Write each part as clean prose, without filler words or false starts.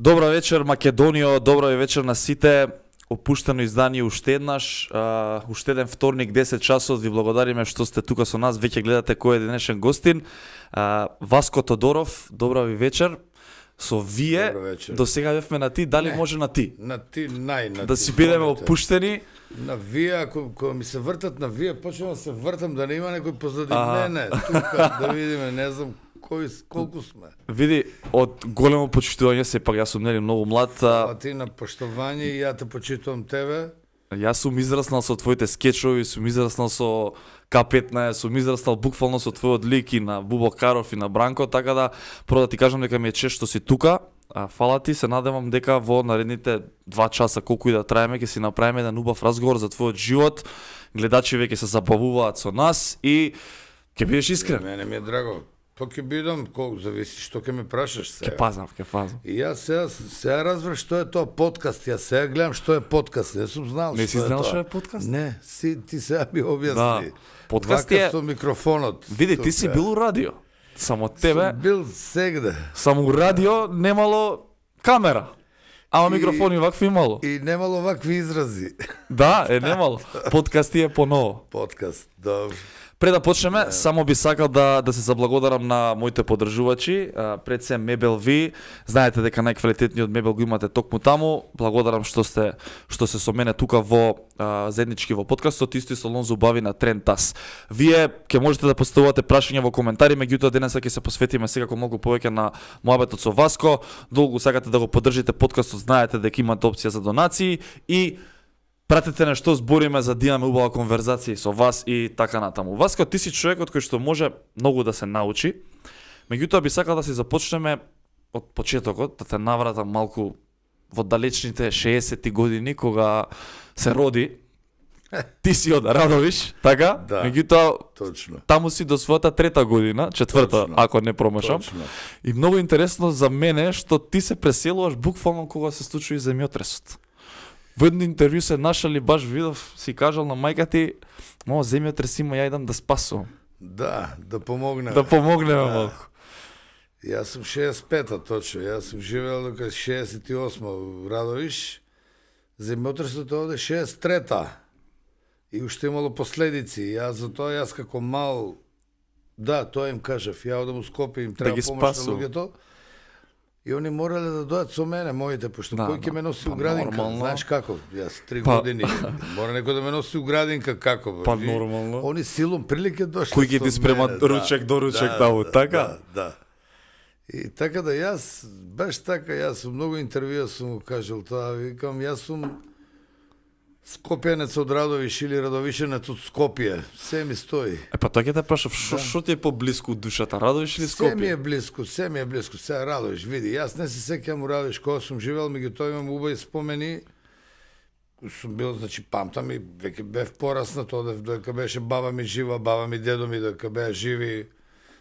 Добра вечер Македонија, добра вечер на сите. Опуштено издание уште еднаш, уште еден вторник 10 часот. Ви благодариме што сте тука со нас, веќе гледате кој е денешен гостин. Васко Тодоров, добра ви вечер. Со вие, до сега бевме на ти, дали може на ти? На ти, на да ти, си бидеме опуштени. На вие, ако ми се вртат на вие, почнем да се вртам, да не има некој позади мене, тука, да видиме, не знам колку сме. Види, од големо почитување, сепак јас сум нели многу млад. Фала ти на поштовање и ја те почитувам тебе. Јас сум израснал со твоите скечови, сум израснал со К15, сум израснал буквално со твојот лик и на Бубо Каров и на Бранко, така да прво да ти кажам дека ми е чест што си тука. Фала ти, се надевам дека во наредните 2 часа колку и да траеме ќе си направиме еден убав разговор за твојот живот. Гледачи веќе се забавуваат со нас и ќе бидеш искрен. Мене ми е драго. Па ќе бидам, колку зависи што ќе ме прашаш сега. Ќе пазнам. И јас сега разбрав што е тоа подкаст. Јас сега гледам што е подкаст. Не сум знал Не што си е знал тоа. што е подкаст? Не, ти сега ми објасни. Да. Подкаст е со микрофонот. Види, ти си бил у радио. Само тебе. Сум бил сегде. Само у радио немало камера. Ама микрофони вакви имало. И немало вакви изрази. Да, немало. Подкаст е поново. Подкаст, добро. Пред да почнеме, само би сакал да се заблагодарам на моите поддржувачи, пред се Мебел Ви. Знаете дека најквалитетниот мебел го имате токму таму. Благодарам што сте со мене тука во заеднички во подкастот, исто и салон за убави на Трентас. Вие ќе можете да поставувате прашања во коментари, меѓутоа денеска ќе се посветиме секако многу повеќе на моабетот со Васко. Долго сакате да го поддржите подкастот, знаете дека имате опција за донации и пратете на што збориме за да имаме убава конверзација со вас и така натаму. Васко, ти си човекот кој што може многу да се научи. Меѓутоа би сакал да си започнеме од почетокот, да те навратам малку во далечните 60-ти години кога се роди. Ти си од Радовиш, така? Да. Меѓутоа Точно. таму си до својата 3-та година, 4-та, ако не промашам. Точно. И многу интересно за мене што ти се преселуваш буквално кога се случи земјотресот. Во едно интервју се нашали, баш видов, си кажал на мајка ти, мамо, земјотрес има, ја идам да спасувам. Да помогнеме. Да помогнеме малку. Јас сум 65-та, точно. Јас сум живеел до 68 во Радовиш. Земјотресот овде 63-та. И уште имало последици. Јас како мал, да, тоа им кажав, ја одам у Скопје, им треба помош на луѓето. И они морале да дојат со мене, моите, пошто кој ќе ме носи у градинка? Нормално. Знаеш како? Јас 3 години. Мора некој да ме носи у градинка, како? Па нормално. Они силом прилike дошле. Кој ќе ти спрема ручек до ручек таму, така? Да. И така да јас, баш така, јас сум многу интервјуа сум го кажал тоа, викам, јас сум Скопјанец од Радовиш или Радовишенец од Скопје. Се ми стои. Па тоа ќе те прашав, што ти е поблиску од душата, Радовиш или Скопје? Се ми е блиску, сега Радовиш, види, јас не се сеќавам у Радовиш кога сум живеел, меѓутоа имам убави спомени. Сум бил, значи, памтам и веќе бев пораснат, одев додека беше баба ми жива, баба ми, дедо ми додека беа живи.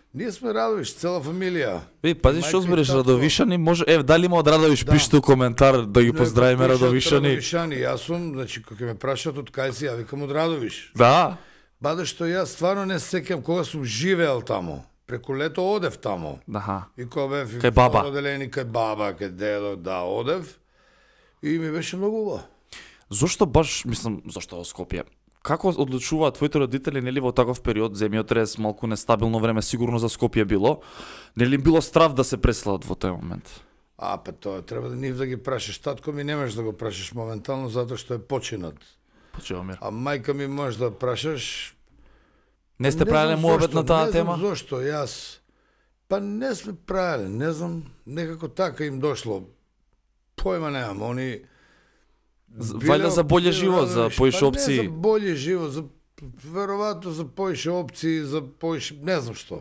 Ние сме Радовиш, цела фамилија. Пази што збориш, Радовишани, може, дали има од Радовиш, пишете у коментар да ги поздравиме Радовишани. Радовишани, јас сум, значи, кога ме прашат од кај си, ја викам од Радовиш. Да. Баде што јас стварно не се сеќам кога сум живеел таму. Преку лето одев таму. Аха. И кога бев кај баба. Оделени кај баба, кај дедо, да, одев. И ми беше многу убаво. Зошто баш, мислам, зошто во Скопје? Како одлучуваат твоите родители, нели, во таков период, земјотрес, малку нестабилно време, сигурно за Скопје било, нели било страв да се преселат во тој момент? Па тоа треба да нив да ги прашаш. Татко ми не можеш да го прашаш моментално затоа што е починат. Почиваме. А мајка ми можеш да прашаш. Не сте правеле муабет на таа тема? Не знам зошто, јас. Па не сме правеле, не знам, некако така им дошло. Појма немам, они Вајда за боле живот, за поише опции. Не за боле живот, за веројатно за поише опции, за поише, не знам што.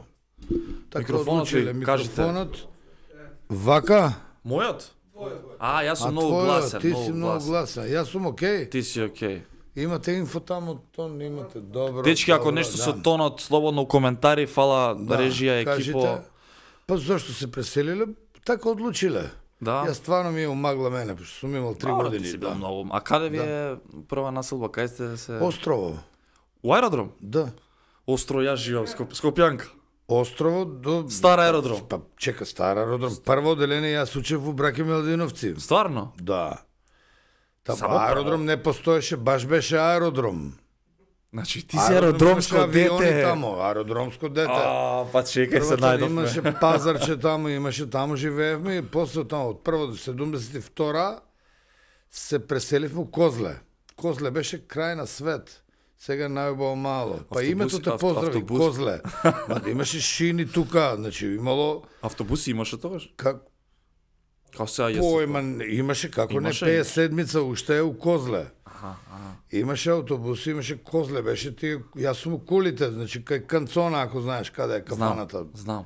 Така Микрофонот ви, кажете. Вака? Мојот? Јас сум многу гласен. Ти си многу гласен. Јас сум окей. Ти си окей. Имате инфо таму, тон имате добро. Дечки, ако нешто со тонот, слободно у коментари, фала режија, екипо. Па зашто се преселиле? Така одлучиле. Да. Јас стварно ми е умагла мене, пошто сум имал 3 години. Ти си бил многу. А каде ви е прва населба? Кај сте се? Острово. У аеродром? Да. Остро, јас живам Скопјанка. островот до Стар аеродром. Па чека, стар аеродром. Прво одделение јас учев во Браке Меладиновци. Стварно? Да. Само Аеродром не постоеше, баш беше аеродром. Значи ти си аеродромско дете. Тамо, аеродромско дете. Па чекај се најдовме. Имаше пазарче тамо, таму живеевме и после тамо од прво до 72 се преселивме у Козле. Козле беше крај на свет. Сега најубаво мало. Па името те поздрави, Козле. Ма имаше шини тука, значи имало... Автобуси имаше тогаш? Како сега имаше, како не, 57-ца уште е у Козле. Имаше автобуси, имаше Козле, беше тие, јас сум у Кулите, значи кај Канцона, ако знаеш каде е кафаната. Знам.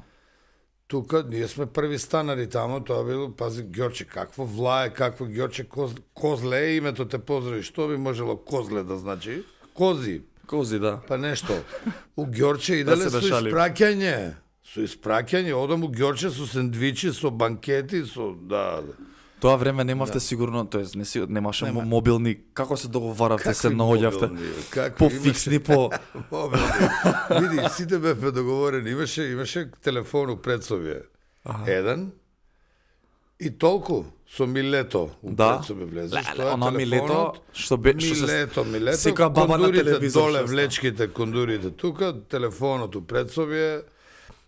Тука ние сме први станари тамо, тоа било, пази, Ѓорче, какво влае, какво Ѓорче, Козле е името те поздрави, што би можело Козле да значи? Кози, да. Па нешто. У Ѓорче иделе со испраќање. Со испраќање, одам у Ѓорче со сендвичи, со банкети, со Тоа време немавте сигурно, тоест немаше мобилни, како се договаравте, се наоѓавте? По фиксни, по мобилни. Види, сите бевме договорени, имаше телефон у Прецовје. Еден и толку со Милето у Прецовје влезеш. Она Милето, што Милето, секоја баба на телевизор доле влечките, кондурите тука, телефонот у Прецовје.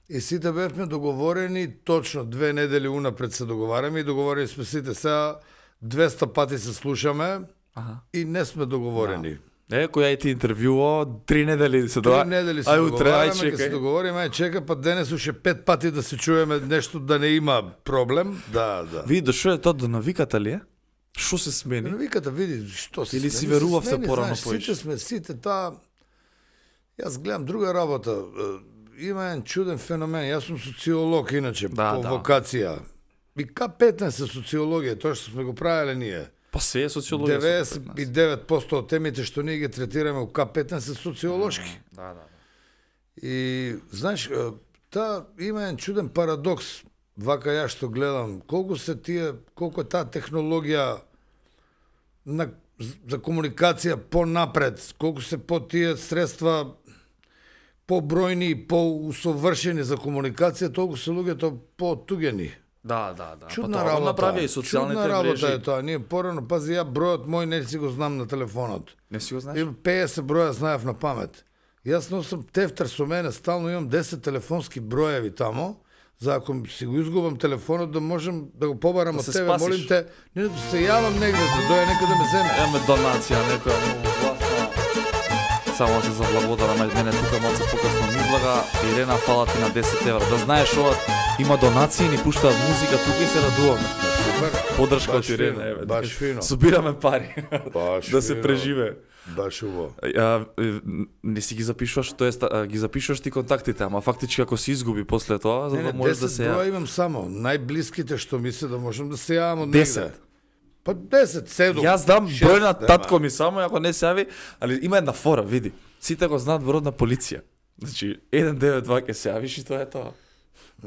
И сите бевме договорени, точно 2 недели унапред се договараме и договорени сме сите сега 200 пати се слушаме и не сме договорени. Која е ти интервјуо, 3 недели се договараме. 3 недели се договараме, ке се договориме, чека, па денес уште 5 пати да се чуеме нешто да не има проблем. Да. Ви дошо е тоа до навиката ли е? Што се смени? Навиката, види, што се или си верувавте порано поиш? Сите таа... Јас гледам друга работа. Има еден чуден феномен. Јас сум социолог, иначе, по вокација. И К15 социологија, тоа што сме го правеле ние. Па се е социологија. 99% од темите што ние ги третираме у К15 се социолошки. Да. И, знаеш, има еден чуден парадокс. Вака јас што гледам, колку е таа технологија за комуникација понапред, колку се по тие средства побројни и поусовршени за комуникација, толку се луѓето потугени. Да. Чудна работа. Направи и социјалните мрежи. Чудна работа е тоа. Ние порано, пази, ја бројот мој не си го знам на телефонот. Не си го знаеш? 50 броја знаев на памет. Јас носам тефтер со мене, стално имам 10 телефонски броеви тамо, за ако си го изгубам телефонот да можам да го побарам од тебе, молим те, не да се јавам негде, да дојде некој да ме земе. Еме донација, некоја многу власна. Само се заблагодарам, мене тука малце покасно ми блага. Ирена, фала ти на 10 евра. Да знаеш, ова има донации, ни пуштаат музика тука и се радуваме. Супер. Подршка од Ирена, еве. Баш фино. Собираме пари. Да се преживе. Баш убаво. Не си ги запишуваш, тоест ги запишуваш ти контактите, ама фактички ако се изгуби после тоа, за да можеш да се ја... 10 броја имам само, најблиските што ми се да можам да се јавам од негде. 10. Па 10, 7. Јас дам број на татко ми само, ако не се јави, али има една фора, види. Сите го знаат број на полиција. Значи, 192 ќе се јавиш и тоа е тоа.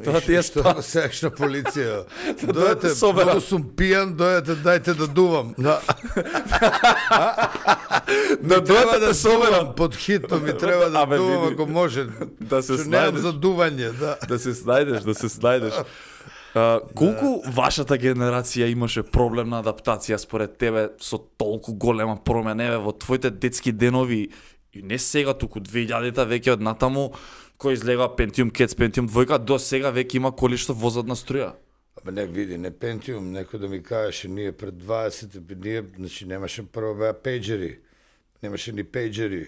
Тоа ти е што сееш на полиција. Дојдете, многу сум пијан, дојдете, дајте да дувам. Да. Да дојдете да соберам под хитно ми треба да дувам ако може. Да се снајдеш за дување, да. Да се снајдеш. Колку вашата генерација имаше проблем на адаптација според тебе со толку голема промена еве во твоите детски денови и не сега туку 2000-та веќе од натаму кој излега Pentium Cats, Pentium 2 до сега веќе има коли што возат на струја. Абе не види, не Pentium, некој да ми кажеше ние пред 20 ние значи немаше прво беа пејџери. Немаше ни пејџери.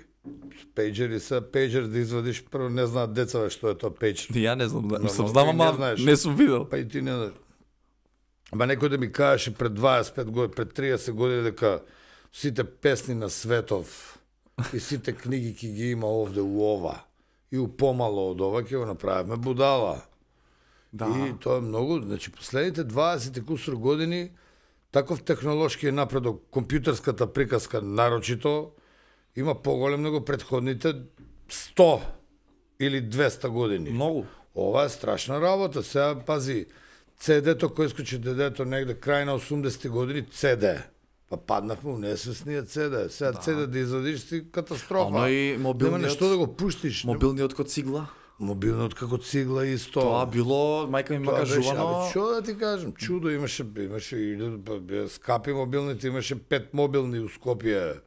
Пејџери се пејџер да извадиш прво не знаат децата што е тоа пејџер. Ја не знам, не сум знам, ама не сум видел. Па и ти не знаеш. Ама некој да ми кажеше пред 25 години, пред 30 години дека сите песни на Светов и сите книги ки ги има овде у ова и у помало од ова ќе го направиме будала. Да. И тоа е многу, значи последните 20 кусур години таков технолошки напредок, компјутерската приказка нарочито има поголем него предходните 100 или 200 години. Многу. Ова е страшна работа. Сега пази, CD-то кој искочи дедето негде крај на 80-ти години, CD. Па паднахме у несвесниот CD. Сега CD да извадиш си катастрофа. Ама и нема нешто да го пуштиш. Мобилниот код цигла. Мобилниот како цигла исто. Тоа било, мајка ми ма кажувано. Што да ти кажам, чудо имаше скапи мобилните, имаше 5 мобилни у Скопје,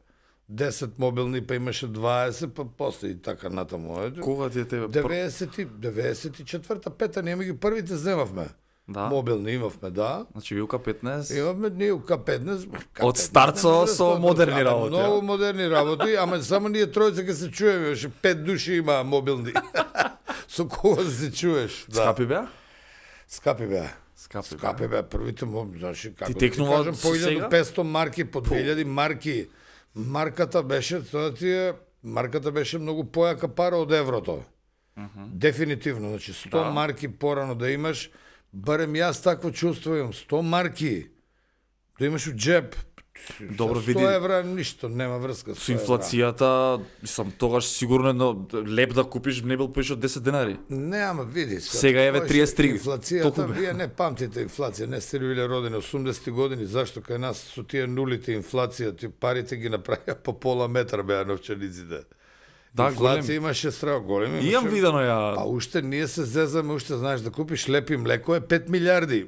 10 мобилни, па имаше 20, па после и така натаму. Кога ти е тебе? 94-та, 5-та, ние ги првите земавме. Да. Мобилни имавме, да. Значи ви УК-15. Имавме ние УК-15. Од старт со модерни работи. Многу модерни работи, ама само ние тројца ке се чуеме, беше 5 души има мобилни. Со кого да се чуеш? Да. Скапи беа? Скапи беа. Скапи беа, првите значи како ти текнува по 1500 марки, по 2000 марки. Марката беше многу појака пара од еврото. Дефинитивно, значи 100 марки порано да имаш, барем јас такво чувство имам, 100 марки да имаш у джеб. Добро, 100 види. евра ништо, нема врска. Со инфлацијата, тогаш сигурно едно леп да купиш не бил поише од 10 денари. Не, ама види. Сега еве 33. Инфлацијата, вие не памтите инфлација, не сте биле родени 80-ти години, зашто кај нас со тие нулите инфлација, тие парите ги направија по пола метар беа новчаниците. Да, инфлација имаше страо големи. Имам видено ја. А уште ние се зезаме, уште знаеш да купиш лепи млеко е 5 милиарди.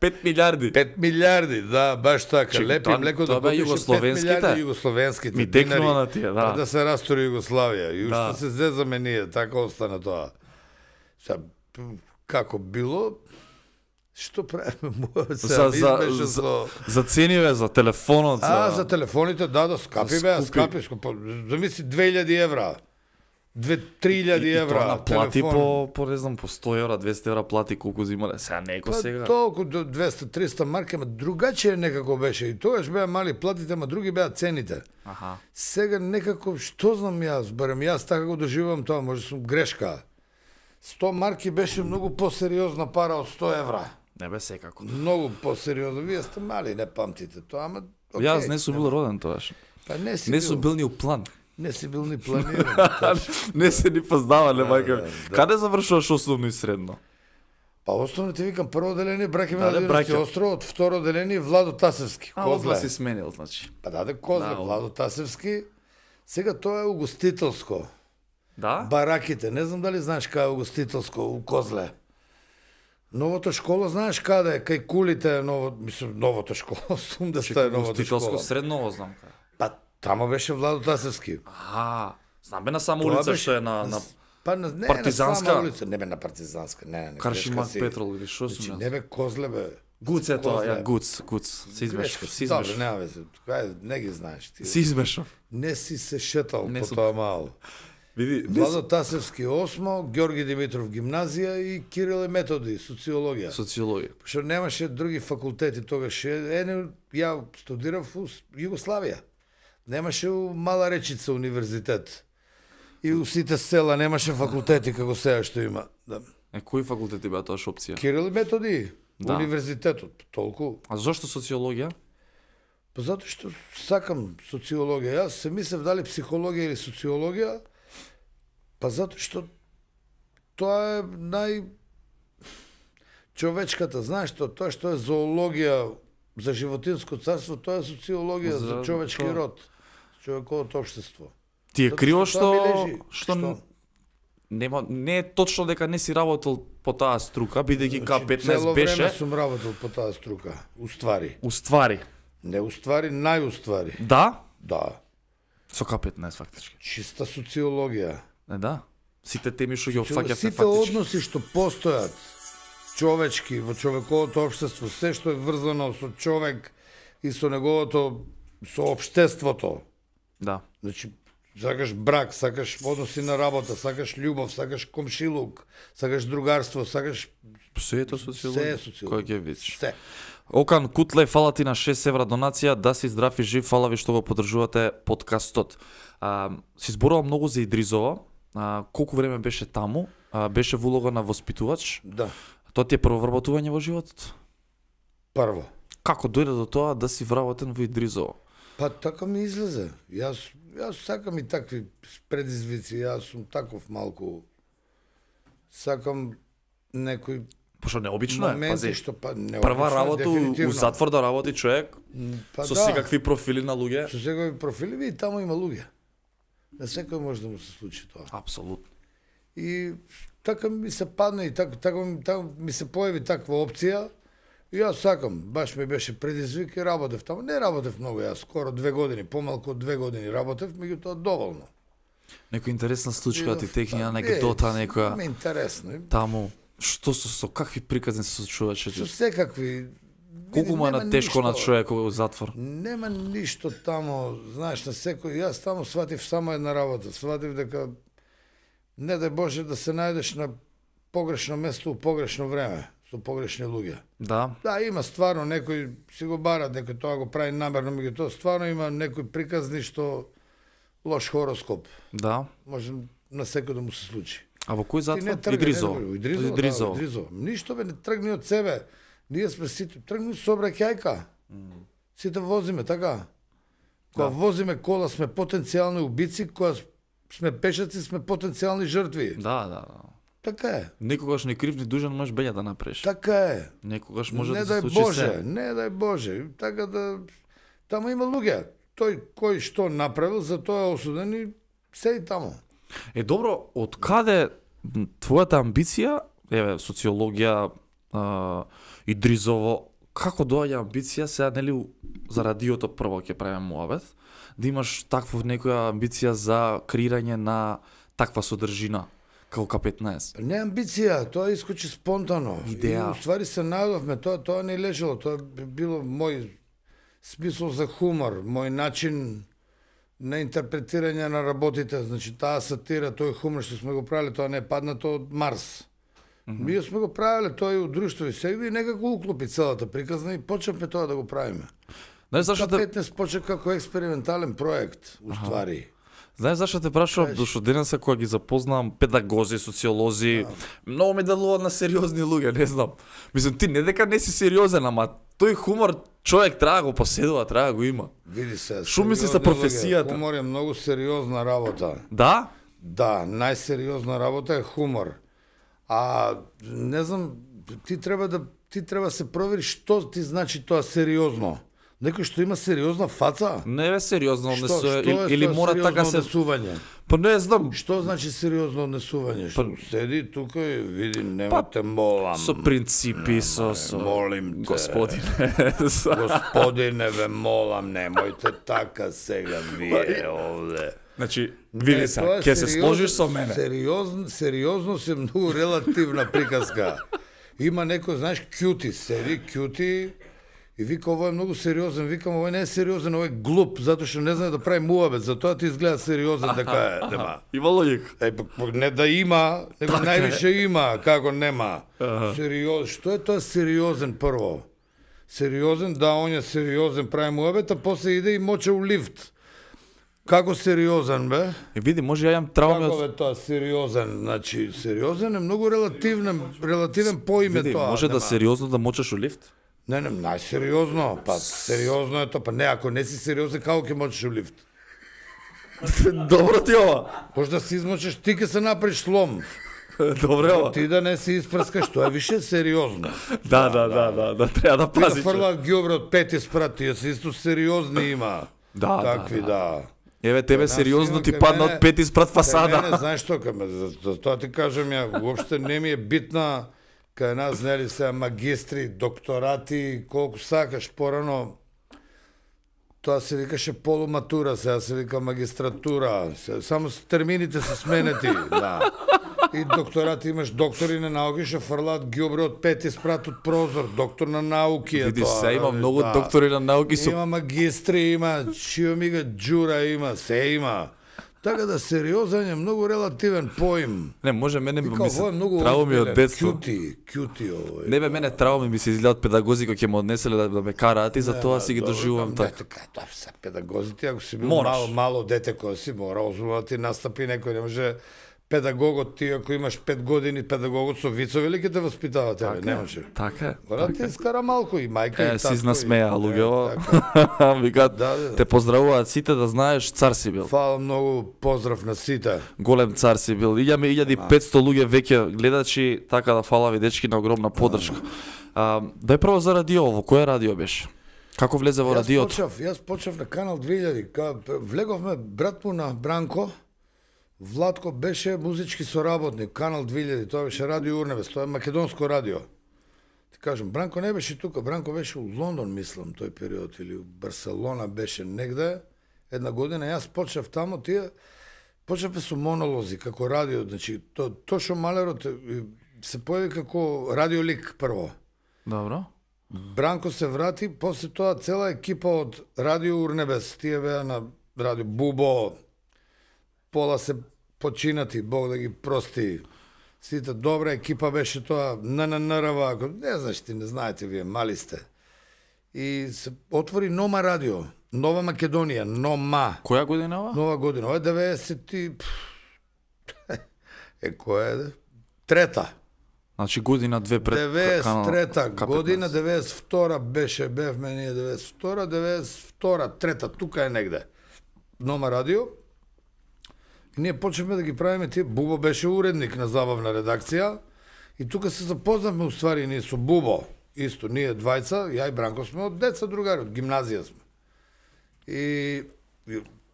5 милиарди. 5 милиарди, да, баш така. Лепи млеко да купиш 5 милиарди југословенските. Ми текнува на тие, да. Да се растори Југославија. И уште се зезаме ние, така остана тоа. Како било, што правиме? За цениве, за телефонот. За телефоните, да, скапи беа, скапи. Замисли 2000 евра. 2-3000 евра. На плати по не знам, по 100 евра, 200 евра плати колку зимале. Сега неко сега. Толку до 200-300 марки, ама другачие некако беше. И тогаш беа мали платите, ама други беа цените. Сега некако, што знам јас, барем јас така го доживам тоа, може сум грешка. 100 марки беше многу посериозна пара од 100 евра. Не бе секако. Многу посериозно. Вие сте мали, не памтите тоа, ама окей. Јас не сум бил роден тогаш. Не сум бил ни у план. Не си бил ни планиран. Не се ни познавале, мајка. Каде завршуваш основно и средно? Па основно ти викам, прво деление браќа ми на Динарски остров, второ деление Владо Тасевски. Козле си сменил, значи. Па даде Козле, Владо Тасевски. Сега тоа е угостителско. Да? Бараките, не знам дали знаеш кај е угостителско у Козле. Новата школа, знаеш каде е, кај кулите е новата школа, 80-та е новата школа. Угостителско средно знам кај. Па тамо беше Владо Тасевски. Знам бе на сама улица што е на не Партизанска. На сама улица, не бе на Партизанска, не. Каршимак Петрол или што сум јас? Не бе Козле бе. Гуц е тоа, Гуц. Се измешав. Добре, нема веќе. Не ги знаеш ти. Се измешав. Не си се шетал по тоа мало. Види, Владо Тасевски 8, Ѓорги Димитров гимназија и Кирил и Методи социологија. Што немаше други факултети тогаш. Ја студирав у Југославија. Немаше у Мала Речица универзитет. И у сите села немаше факултети како сега што има. Да. Кои факултети беа тоа опција? Кирил и Методи, универзитетот, толку. А зошто социологија? Па затоа што сакам социологија. Јас се мислев дали психологија или социологија. Па затоа што тоа е човечката, знаеш тоа што е зоологија за животинско царство, тоа е социологија за човечки род, човековото општество. Ти е криво што не е точно дека не си работел по таа струка, бидејќи К15 беше. Цело време сум работел по таа струка, уствари. Не уствари, најуствари. Да? Да. Со К15 фактички. Чиста социологија. Да. Сите теми што ги опфаќавте фактички. Сите односи што постојат човечки во човековото општество, се што е врзано со човек и со неговото, со општеството. Да. Значи, сакаш брак, сакаш односи на работа, сакаш љубов, сакаш комшилук, сакаш другарство, сакаш... Се е тоа социологија. Се е социологија. Кој ќе видиш. Се. Окан Кутле, фала ти на 6 евра донација, да си здрав и жив, фала ви што го поддржувате подкастот. Си зборувал многу за Идризова, колку време беше таму, беше во улога на воспитувач. Да. Тоа ти е прво вработување во животот? Прво. Како дојде до тоа да си вработен во Идризово? Па така ми излезе. Јас сакам и такви предизвици, јас сум таков малку. Сакам некој Пошто необично е, пази. Прва работа у затвор да работи човек со секакви профили на луѓе. Со секакви профили, и таму има луѓе. На секој може да му се случи тоа. Апсолутно. И така ми се падна и така ми се појави таква опција. И јас сакам, баш ми беше предизвик и работев таму. Не работев многу, јас скоро 2 години, помалку од 2 години работев, меѓутоа доволно. Некоја интересна случка ти технија анегдота некоја. Ме интересно. Таму што со какви приказни се случуваше? Со секакви. Колку му е на тешко на човек во затвор? Нема ништо таму, знаеш, на секој. Јас таму сватив само една работа. Сватив дека не дај Боже да се најдеш на погрешно место у погрешно време, со погрешни луѓе. Да. Да, има стварно некој си го барат, некој тоа го прави намерно, меѓутоа стварно има некои приказни што лош хороскоп. Да. Може на секој да му се случи. А во кој затвор? Идризово. Идризово. Ништо бе не тргни од себе. Ние сме сите тргни сообраќајка. Сите возиме така. Кога возиме кола сме потенцијални убици, кога сме пешаци сме потенцијални жртви. Да. Така е. Некогаш не крив ни дужен можеш беља да направиш. Така е. Некогаш може не да се дај случи Боже, се. не дај Боже. Така да таму има луѓе. Тој кој што направил, за тоа е осуден и седи таму. Е добро, од каде твојата амбиција, еве социологија, Идризово, како доаѓа амбиција сега нели за радиото прво ќе правиме муабет, да имаш таква некоја амбиција за креирање на таква содржина како К15? Не амбиција, тоа искочи спонтано. Идеја. И уствари се најдовме, тоа не лежало, тоа би било мој смисол за хумор, мој начин на интерпретирање на работите, значи таа сатира, тој хумор што сме го правиле, тоа не е паднато од Марс. Ние сме го правиле тоа и у друштво и сега и некако уклопи целата приказна и почнавме тоа да го правиме. Знаеш зашто те К15 почна како експериментален проект, уствари. Знаеш зашто те прашувам, дошто денеса кога ги запознавам педагози, социолози, многу ме делуваат на сериозни луѓе, не знам. Мислам, ти не дека не си сериозен, ама тој хумор човек треба го поседува, треба го има. Види се. Шо мисли за професијата? Хумор е многу сериозна работа. Да? Да, најсериозна работа е хумор. А не знам, ти треба се провери што ти значи тоа сериозно. Некој што има сериозна фаца? Не е сериозно Што однесување е или тоа мора така се однесување? Па не знам. Што значи сериозно однесување? Што седи тука и види, немате молам. Со принципи, со молим те. господине. Господине, ве молам, немојте така сега вие овде. Значи, види се, ќе се сложиш со мене. Сериозност е многу релативна приказка. Има некој, знаеш, кјути, седи, кјути, и вика, ово е многу сериозен, викам, ово не е сериозен, ово е глуп, затоа што не знае да прави муабет, затоа ти изгледа сериозен, дека е, нема. Има логика. Не да има, него највише има, како нема. Што е тоа сериозен прво? Сериозен, да, он е сериозен, прави муабет, а после иде и моче у лифт. Како сериозен, бе? Види, може ја имам трауми Како бе тоа сериозен? Значи, сериозен е многу релативен поиме Види, тоа. може да сериозно да мочеш у лифт? Не, најсериозно. Па, сериозно е тоа. Па не, ако не си сериозен, како ќе мочеш у лифт? Добро ти ова. Може да се измочеш, ти ќе се направиш слом. Добре ова. Ти да не се испрскаш, тоа е више сериозно. Да, треба да Ти да пазиш. фрлаат ѓобре од 5 спрат, тие се исто сериозни има. Такви, да. Еве тебе сериозно ти падна од 5 спрат Не, фасада. знаеш што, за тоа ти кажам ја, уопште не ми е битна кај нас, нели се магистри, докторати, колку сакаш порано. Тоа се викаше полуматура, сега се вика магистратура. Само термините се сменети, да. И докторати имаш доктори на науки што фрлаат ѓубре од 5 спрат од прозор, доктор на науки е Види тоа. се, има да, многу да. доктори на науки со Има магистри, има чиомига джура, има, се има. Така да сериозен е многу релативен поим. Не, може мене Вика, ми ово е се многу трауми од озбилен. детство. Кјути ово е. Не бе, мене трауми ми се изгледаат педагози кои ќе ме однеселе да ме караат и затоа си ги доживувам така. Така, тоа се педагозите, ако си бил Мораш. мало дете кој си, мора озбилно да ти настапи некој, не може педагогот ти, ако имаш 5 години, педагогот со вицови ли ќе те воспитава тебе, не може. Така е. Мора ти искара малку и мајка и татко. Си знасмеа луѓето. така. Викаат, Да. те поздравуваат сите да знаеш цар си бил. Фала многу, поздрав на сите. Голем цар си бил. Илјаме 1500 луѓе веќе гледачи, така да фала ви дечки на огромна поддршка. Дај прво за радио, во кое радио беше? Како влезе во радиото? Јас почнав на Канал 2000, влеговме брат му на Бранко, Владко беше музички соработник, Канал 2000, тоа беше Радио Урнебес, тоа е македонско радио. Ти кажам, Бранко не беше тука, Бранко беше у Лондон, мислам, тој период, или у Барселона беше негде, една година, јас почнав тамо, почнавме со монолози, како радио, значи, Тошо Малерот се појави како радиолик прво. Добро. Бранко се врати, после тоа цела екипа од Радио Урнебес, тие беа на Радио Бубо, пола се починати, Бог да ги прости. Сите добра екипа беше тоа, ННРВ, не знаеш ти, не знаете вие, мали сте. И се отвори Нома радио, Нова Македонија, Нома. Која година ова? Нова година, ова е 90 која е? Трета. Значи година две пред 93-та година, 92-та беше, бевме ние 92-та, трета, тука е негде. Нома радио. И ние почнавме да ги правиме тие. Бубо беше уредник на забавна редакција. И тука се запознавме уствари ние со Бубо. Исто, ние двајца, ја и Бранко сме од деца другари, од гимназија сме. И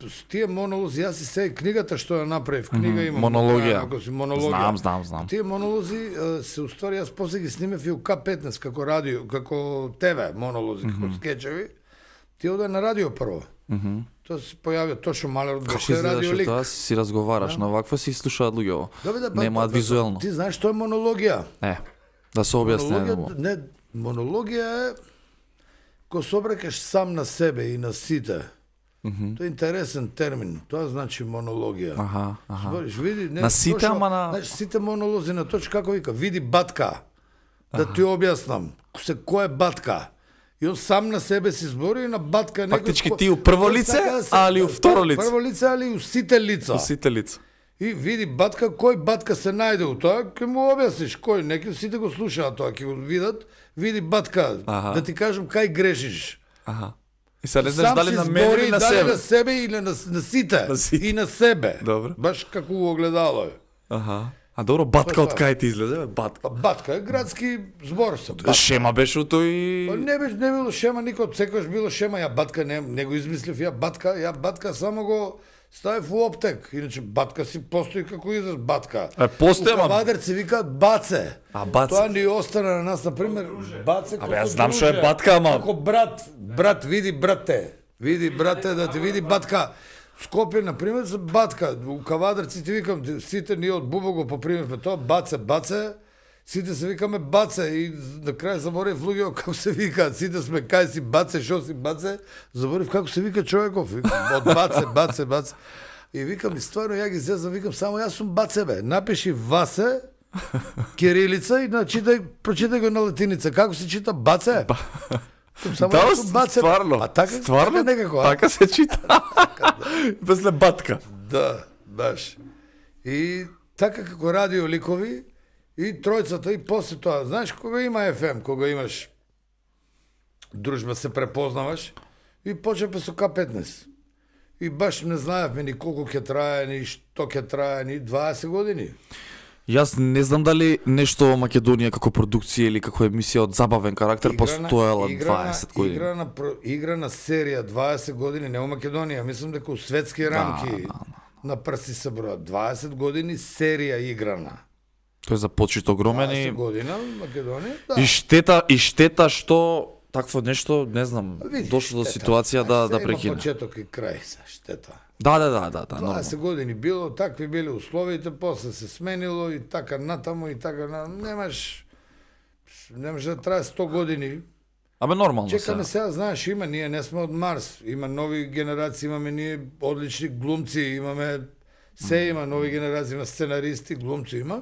с тие монолози, јас и се книгата што ја направив, книга имам. Монологија. Монологија. Знам. Тие монолози се уствари, јас после ги снимев и у К15 како радио, како ТВ монолози, како скечеви. Тие оде на радио прво. Тоа се појавија Тошо Малерот, беше радиолик. Тоа си разговараш, но вакво си слушаат луѓе. Немаат визуелно. Ти знаеш што е монологија? Да се објасни. Не, монологија е кога се обрекаш сам на себе и на сите. Тоа е интересен термин. Тоа значи монологија. Збориш, види, не, на сите, ама на... Значи, сите монолози на точка, како вика, види батка. Да ти објаснам, кој е батка. И он сам на себе си збори и на батка... Фактички ти у прво лице, али у второ лице. Прво лице, али у сите лица. У сите лица. И види батка, кој батка се најде у тоа, ќе му објасниш кој, неки сите го слушаат тоа, ќе го видат, види батка, да ти кажам кај грешиш. И сега не знаеш дали на мене или на себе. Дали на себе или на сите. И на себе. Добро. Баш како у огледало е. А добро, батка од кај ти излезе, батка? Батка е градски збор со. Шема беше у тој... Не било шема никој, секојаш било шема, ја батка не го измислив, ја батка само го ставив у оптек. Иначе батка си постои како израз батка. Постои, ама... У Кавадарци викаат баце. Баце. Тоа ни остана на нас, например, баце како јас знам што е батка, ама... Како брат, види брате, да ти види батка. Скопје, например, за батка. У Кавадарци ти викам, сите ние од Бубо го попримивме тоа, баце, сите се викаме баце и на крај заборев луѓе како се викаат, сите сме кај си баце, шо си баце, заборев како се вика човеков, од баце. И викам, и стварно ја ги зезам, викам, само јас сум баце бе, напиши Васе, кирилица и прочитај го на латиница, како се чита баце? Стварно, така некако. Така се чита. После батка. Да, баш. И така како радио ликови, и тројцата, и после тоа, знаеш, кога има FM, кога имаш дружба, се препознаваш, и почнавме со К15. И баш не знаевме ни колку ќе трае, ни што ќе трае, ни 20 години. Јас не знам дали нешто во Македонија како продукција или како емисија од забавен карактер постоела 20 години. Играна серија 20 години, не во Македонија, мислам дека у светски рамки на прси се бројат. 20 години серија играна. Тој започит огромен и 20 година Македонија, да. И штета што такво нешто, не знам, дошло до ситуација да прекине. Има почеток и крај, штета. Да, 20 години било, такви биле условите, после се сменило и така натаму и така немаш да трае 100 години. Абе нормално се. Чекаме сега, знаеш, ние не сме од Марс, има нови генерации, имаме ние одлични глумци, имаме има нови генерации, има сценаристи, глумци има.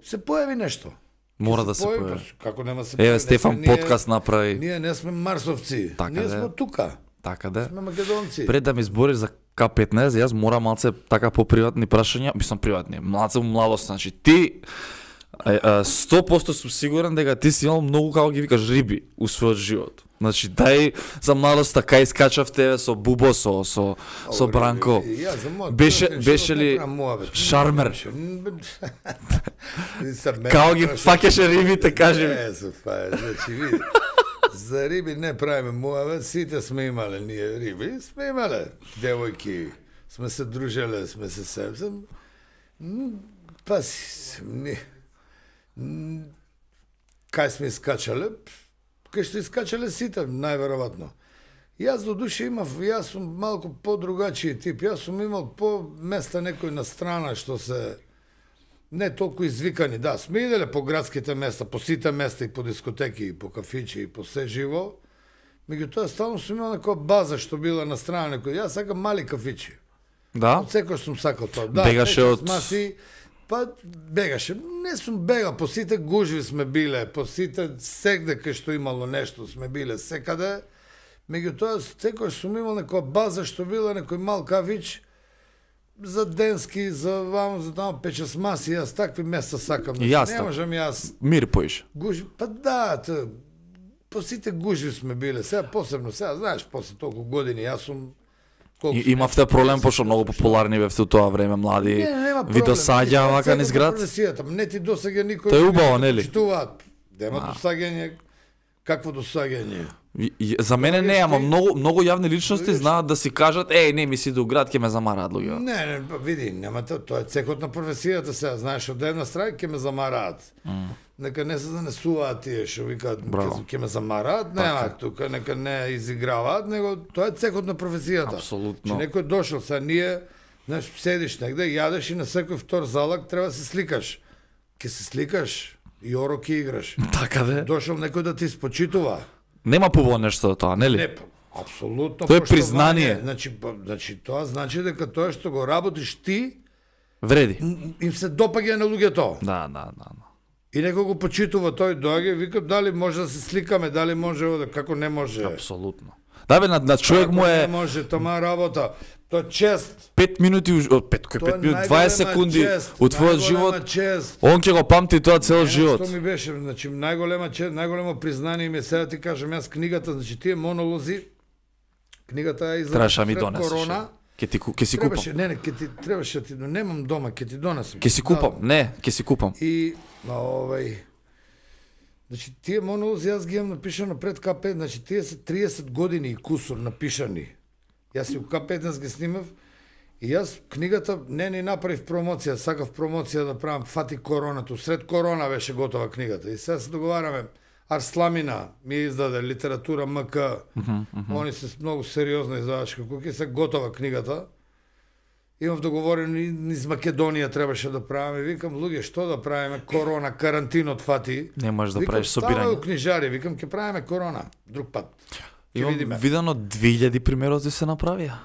Се појави нешто. Мора да се појави. Како нема се појави? Еве Стефан подкаст направи. Ние не сме марсовци. Ние сме тука. Така да. Сме македонци. Пред да ми збориш за К15, јас морам малце така по приватни прашања, мислам приватни, малце младост, значи ти 100% сум сигурен дека ти си имал многу, како ги викаш, риби у својот живот. Значи, дај за младоста кај скачавте со Бубо, со Бранко. Беше ли шармер? Као ги факеше рибите, кажи ми. Значи, види. За риби не правиме муавет, сите сме имале ние риби, сме имале девојки, сме се дружеле, сме се сепсем. Паси, кај сме искачале, кај што искачале сите, најверојатно. Јас до душе имав, јас сум малку по-другачиј тип, јас сум имал по места некој на страна што се не толку извикани. Да, сме иделе по градските места, по сите места и по дискотеки, и по кафичи, и по се живо. Меѓутоа стално сум имал некоја база што била на страна некој. Јас сакам мали кафичи. Да? Од секој сум сакал тоа. Да, бегаше од маси, па бегаше. Не сум бегал, по сите гужви сме биле, по сите сегде кај што имало нешто сме биле секаде. Меѓутоа секој сум имал некоја база што била некој мал кафич за денски, за вам, за тамо печес маси, јас такви места сакам. Јас не можам јас мир поиш. гужви, па да, по сите гужви сме биле. Сега посебно, сега знаеш, после толку години јас сум Имавте проблем пошто многу популарни бевте у тоа време, млади. Ви досаѓа вака низ град? Не ти досаѓа никој. Тоа е убаво, нели? Нема досаѓање. Какво досаѓање? За мене не, ама многу јавни личности знаат да си кажат, не ми си до град, ќе ме замараат луѓе. Не, види, нема тоа е цекот на професијата сега, знаеш, од една страна ќе ме замараат. Нека не се занесуваат тие што викаат ќе ме замараат, нема тука, нека не изиграваат, него тоа е цекот на професијата. Апсолутно. Че некој дошол сега ние, знаеш, седиш негде, јадеш и на секој втор залак треба да се сликаш. Ќе се сликаш и оро ќе играш. Така де. Дошол некој да ти спочитува. Нема побо нешто од тоа, нели? Не, апсолутно. Тоа е признание. Значи тоа значи дека тоа што го работиш ти Вреди. им се допаѓа на луѓето. Да. И некој го почитува, тој доаѓа и вика дали може да се сликаме, дали може како не може. Апсолутно. Да бе, на човек му е... Не може, тома работа. Тоа чест. 5 минути, 5 минути, 20 секунди од твојот живот. Он ќе го памти тоа цел живот. Што ми беше, значи најголемо признание ми е, сега ти кажам, јас книгата, значи тие монолози, книгата е Траша ми пред донесеш. корона. Ќе си купам. Не, требаше ти, немам дома, ќе ти донесам. Ќе си купам. Не, ќе си купам. И значи тие монолози јас ги имам напишано пред К5, значи тие се 30 години и кусур напишани. Јас и у К15 ги снимав и јас книгата не ни направив промоција, сакав промоција да правам, фати коронато, сред корона беше готова книгата. И сега се договараме, Арсламина ми издаде литература МК, они се многу сериозно издавачка куки, се готова книгата. Имав договорено низ Македонија требаше да правиме, викам, луѓе, што да правиме, корона, карантинот фати. Не можеш да правиш собирање. Викам, ставају книжари, викам, ќе правиме корона, друг пат. Имам видено 2000 примероци се направија.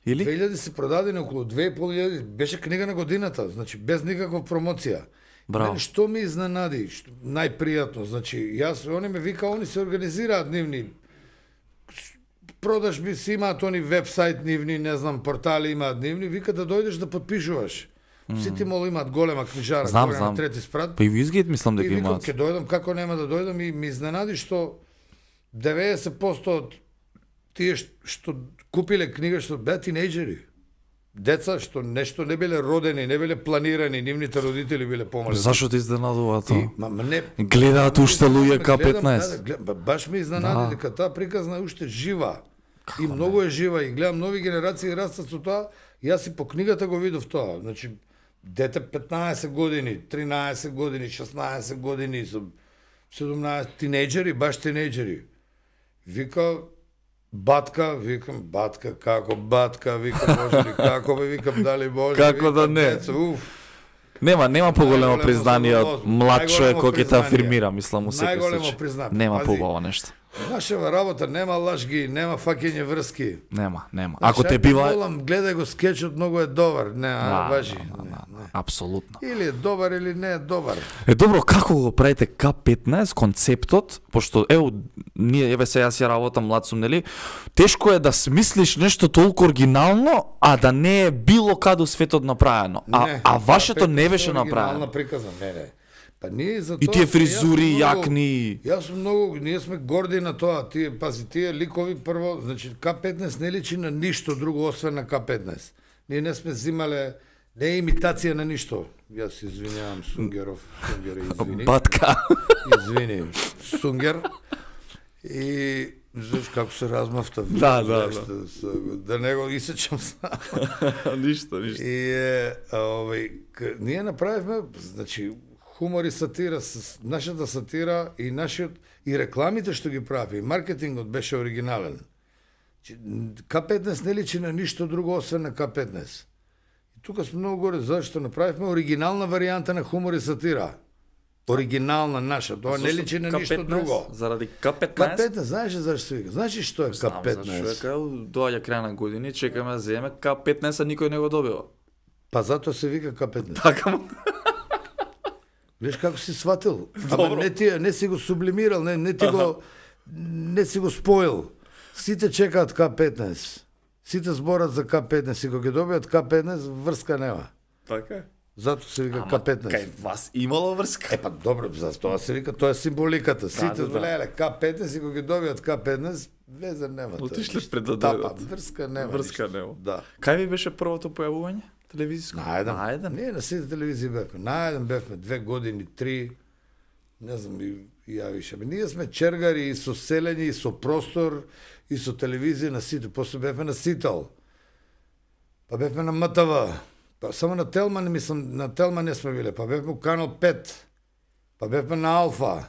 Или? 2000 се продадени, околу 2500, беше книга на годината, значи без никаква промоција. Браво. Мене што ми изненади, најпријатно, значи, они ме вика, они се организираат нивни продажби, си имаат они вебсайт нивни, не знам, портали имаат нивни, вика да дојдеш да подпишуваш. Сите мол имаат голема книжара, знам. на трети спрат. Па и Визгейт мислам дека имаат. имаат. И викам, ќе дојдам, како нема да дојдам, и ми изненади што 90% од тие што купиле книга, што беа тинејџери. Деца што нешто не биле родени, не биле планирани, нивните родители биле помалени. Зашо те изненадува тоа? Не, гледаат уште луѓе К15. Баш ми изненади дека таа приказна е уште жива. И многу е жива и гледам нови генерации растат со тоа. Јас и по книгата го видов тоа. Значи дете 15 години, 13 години, 16 години, 17 тинејџери, баш тинејџери. Вика батка, викам батка, како батка, викам може ли, како бе, викам дали може. Како да не. Нема поголемо признание од млад човек кој ќе те афирмира, мислам, у секој случај. Нема побаво нешто. Нашава работа нема лажги, нема фаќање врски. Нема. Ако те бива... Молам, гледај го скечот, многу е добар. Не, важи. Апсолутно. Или е добар, или не е добар. Добро, како го правите К15, концептот, пошто, ние, сега си работам, млад сум, нели, тешко е да смислиш нешто толку оригинално, а да не е било каде у светот направено. А вашето не беше направено. Оригинална приказна, не. Па ние за тоа. И тие фризури, јакни. Јас сум многу, ние сме горди на тоа. Тие ликови прво, значи К15 не личи на ништо друго освен на К15. Ние не сме взимале, не е имитација на ништо. Јас извинявам Сунгер, извини. Батка. Извини, Сунгер. И знаеш како се размавта. Да. Да не го исечам сам. Ништо. И ние направивме, значи, хумор и сатира, нашата сатира и и рекламите што ги прави, и маркетингот беше оригинален. К15 не личи на ништо друго освен на К15. И тука сме многу горе зашто направивме оригинална варијанта на хумор и сатира. Оригинална наша, тоа не личи на ништо друго. Заради К15? К15, знаеш зашто се вика? Знаеш што е К15? Знам, зашто е доаѓа крај на години, чекаме да земе К15, а никој не го добива. Па затоа се вика К15. Така. Виж како си сватил. Ама не си го сублимирал, не си го споил. Сите чекаат К15. Сите зборат за К15 и кога ги добијат К15, врска нема. Така е. Затоа се вика К15. Кај вас имало врска? Па добро, за тоа се вика, тоа е символиката. Сите леле К15 и кога ги добијат К15, везе нема. Отишле пред да дојдат. Врска нема. Врска нема. Да. Кај ви беше првото појавување? Телевизиско? На еден. Ние на сите телевизии бевме. На еден бевме 2 години, 3. Не знам и ја више. Ние сме чергари и со селење, и со простор, и со телевизија на сите. После бевме на Сител. Па бевме на МТВ. Па само на Телман, мислам, на Телман не сме биле. Па бевме у Канал 5. Па бевме на Алфа.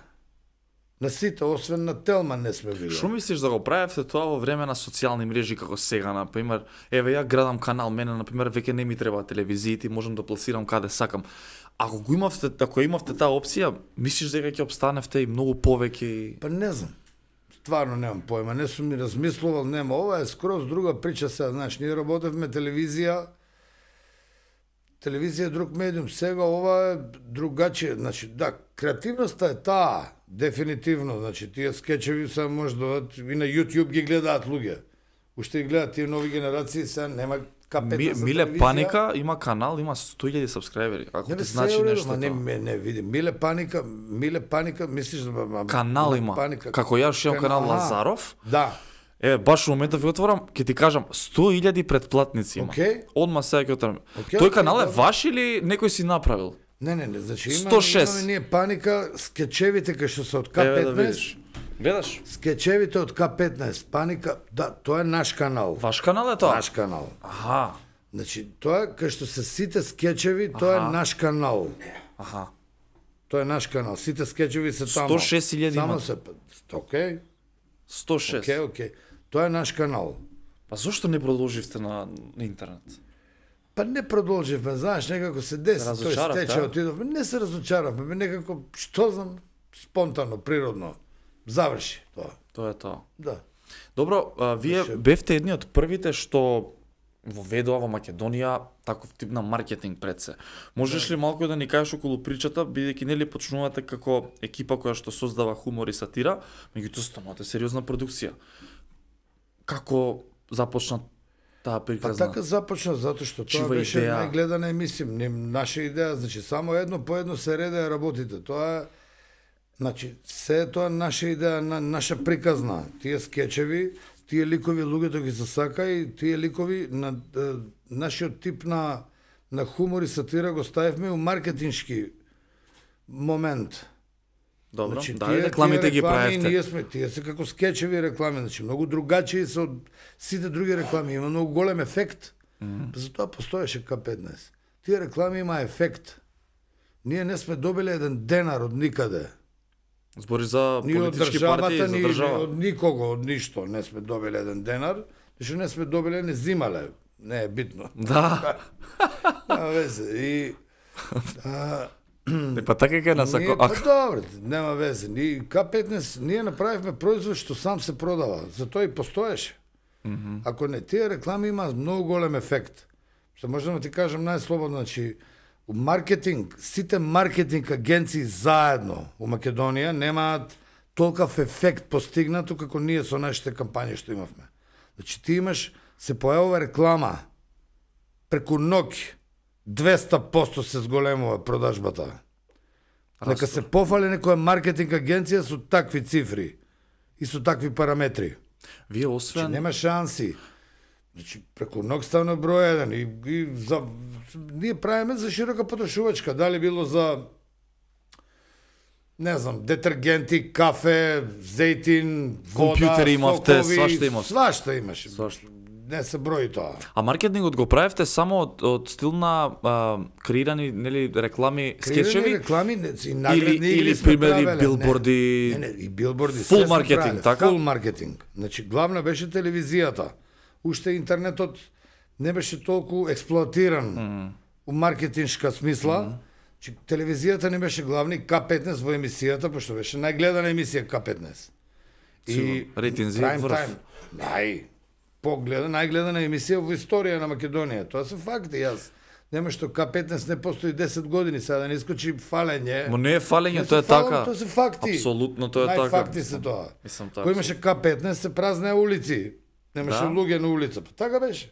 На сите, освен на Телман не сме биле. Што мислиш да го правевте тоа во време на социјални мрежи како сега, например? Еве, ја градам канал, мене, например, веќе не ми треба телевизиите, можам да пласирам каде сакам. Ако имавте таа опција, мислиш дека ќе обстаневте и многу повеќе? Па не знам. Стварно немам појма, не сум ми размислувал, нема. Ова е скроз друга прича сега, знаеш, ние работевме телевизија. Телевизија е друг медиум, сега ова е другачие, значи да, креативноста е таа, дефинитивно, значи тие скечеви се може да и на YouTube ги гледаат луѓе. Уште ги гледаат тие нови генерации, сега нема К15 за Миле телевизија. Паника има канал, има 100.000 сабскрајбери. Ако ти значи нешто тоа. Не видим. Миле Паника, мислиш да канал има. Како ја шијам канал Лазаров. Да. Еве, баш во моментов ви отворам, ќе ти кажам 100.000 претплатници има. Одма сега ќе отворам. Тој канал е ваш или некој си направил? Не, значи имаме ние Паника, скечевите кај што се од К15. Гледаш? Скечевите од К15, Паника, да, тоа е наш канал. Ваш канал е тоа? Наш канал. Аха. Значи, тоа кај што се сите скечеви, тоа е наш канал. Аха. Тоа е наш канал. Сите скечеви се тамо. 106.000 има. Само се, окей. 106. Окей. Тоа е наш канал. Па зошто не продолживте на интернет? Па не продолживме, знаеш, некако се деси, тој стече, отидовме, не се разочаравме, некако, што знам, спонтано, природно, заврши тоа. Тоа е тоа. Да. Добро, вие бевте едни од првите што воведува во Македонија таков тип на маркетинг пред се. Можеш ли малку да ни кажеш околу причата, бидејќи нели почнувате како екипа која што создава хумор и сатира, меѓутоа станувате сериозна продукција. Како започна таа приказна? Па така започна затоа што тоа беше најгледана емисија, наша идеја, значи само едно по едно се редеа работите. Тоа значи се тоа наша идеја, наша приказна. Тие скечеви, тие ликови луѓето ги засака и тие ликови на нашиот тип на хумор и сатира го ставивме у маркетиншки момент. Добро, значи, да, рекламите ги правевте. Тие се како скечеви реклами, значи многу другачи се од сите други реклами, има многу голем ефект. Затоа постоеше К15. Тие реклами има ефект. Ние не сме добили еден денар од никаде. Збори за политички партии, за држава. Од никого, од ништо не сме добили еден денар, зашто не сме добили, не зимале. Не е битно. Да. Нема везе. И па така ке насако. Па добре, нема везе. К15 ние направивме производ што сам се продава, затоа и постоеше. Ако не, тие реклами има многу голем ефект. Што можам да ти кажам најслободно, значи маркетинг, сите маркетинг агенции заедно у Македонија немаат толкав ефект постигнато како ние со нашите кампањи што имавме. Значи ти имаш, се појавува реклама преку ноќ 200% се зголемува продажбата. Нека се пофали некоја маркетинг агенција со такви цифри и со такви параметри. Вие освен... Значи, нема шанси. Значи, преку ноќ ставна број 1 и ние правиме за широка потрошувачка. Дали било за не знам, детергенти, кафе, зејтин, вода, Компјутери имавте, сокови, свашта имаш. Свашта имаше. Не се брои тоа. А маркетингот го правевте само од стил на креирани, нели, реклами, скечеви? Креирани реклами и наградни или сме примери, правеле. билборди. Не, и билборди. Фул маркетинг, така? Фул маркетинг. Значи, главна беше телевизијата. Уште интернетот не беше толку експлоатиран у маркетиншка смисла. Значи, телевизијата не беше главни, К15 во емисијата, пошто беше најгледана емисија К15. И рейтинзи прайм врв. тајм, најгледана емисија во историја на Македонија. Тоа се факти, јас. Нема што К15 не постои 10 години, сега да не искочи фалење. Мо не е фалење, Не тоа е се фалам, така. Тоа се факти. Апсолутно тоа е така. Најфакти се тоа. Мислам така. Кој имаше К15 се празнеа улици. Немаше Да. луѓе на улица. Па така беше.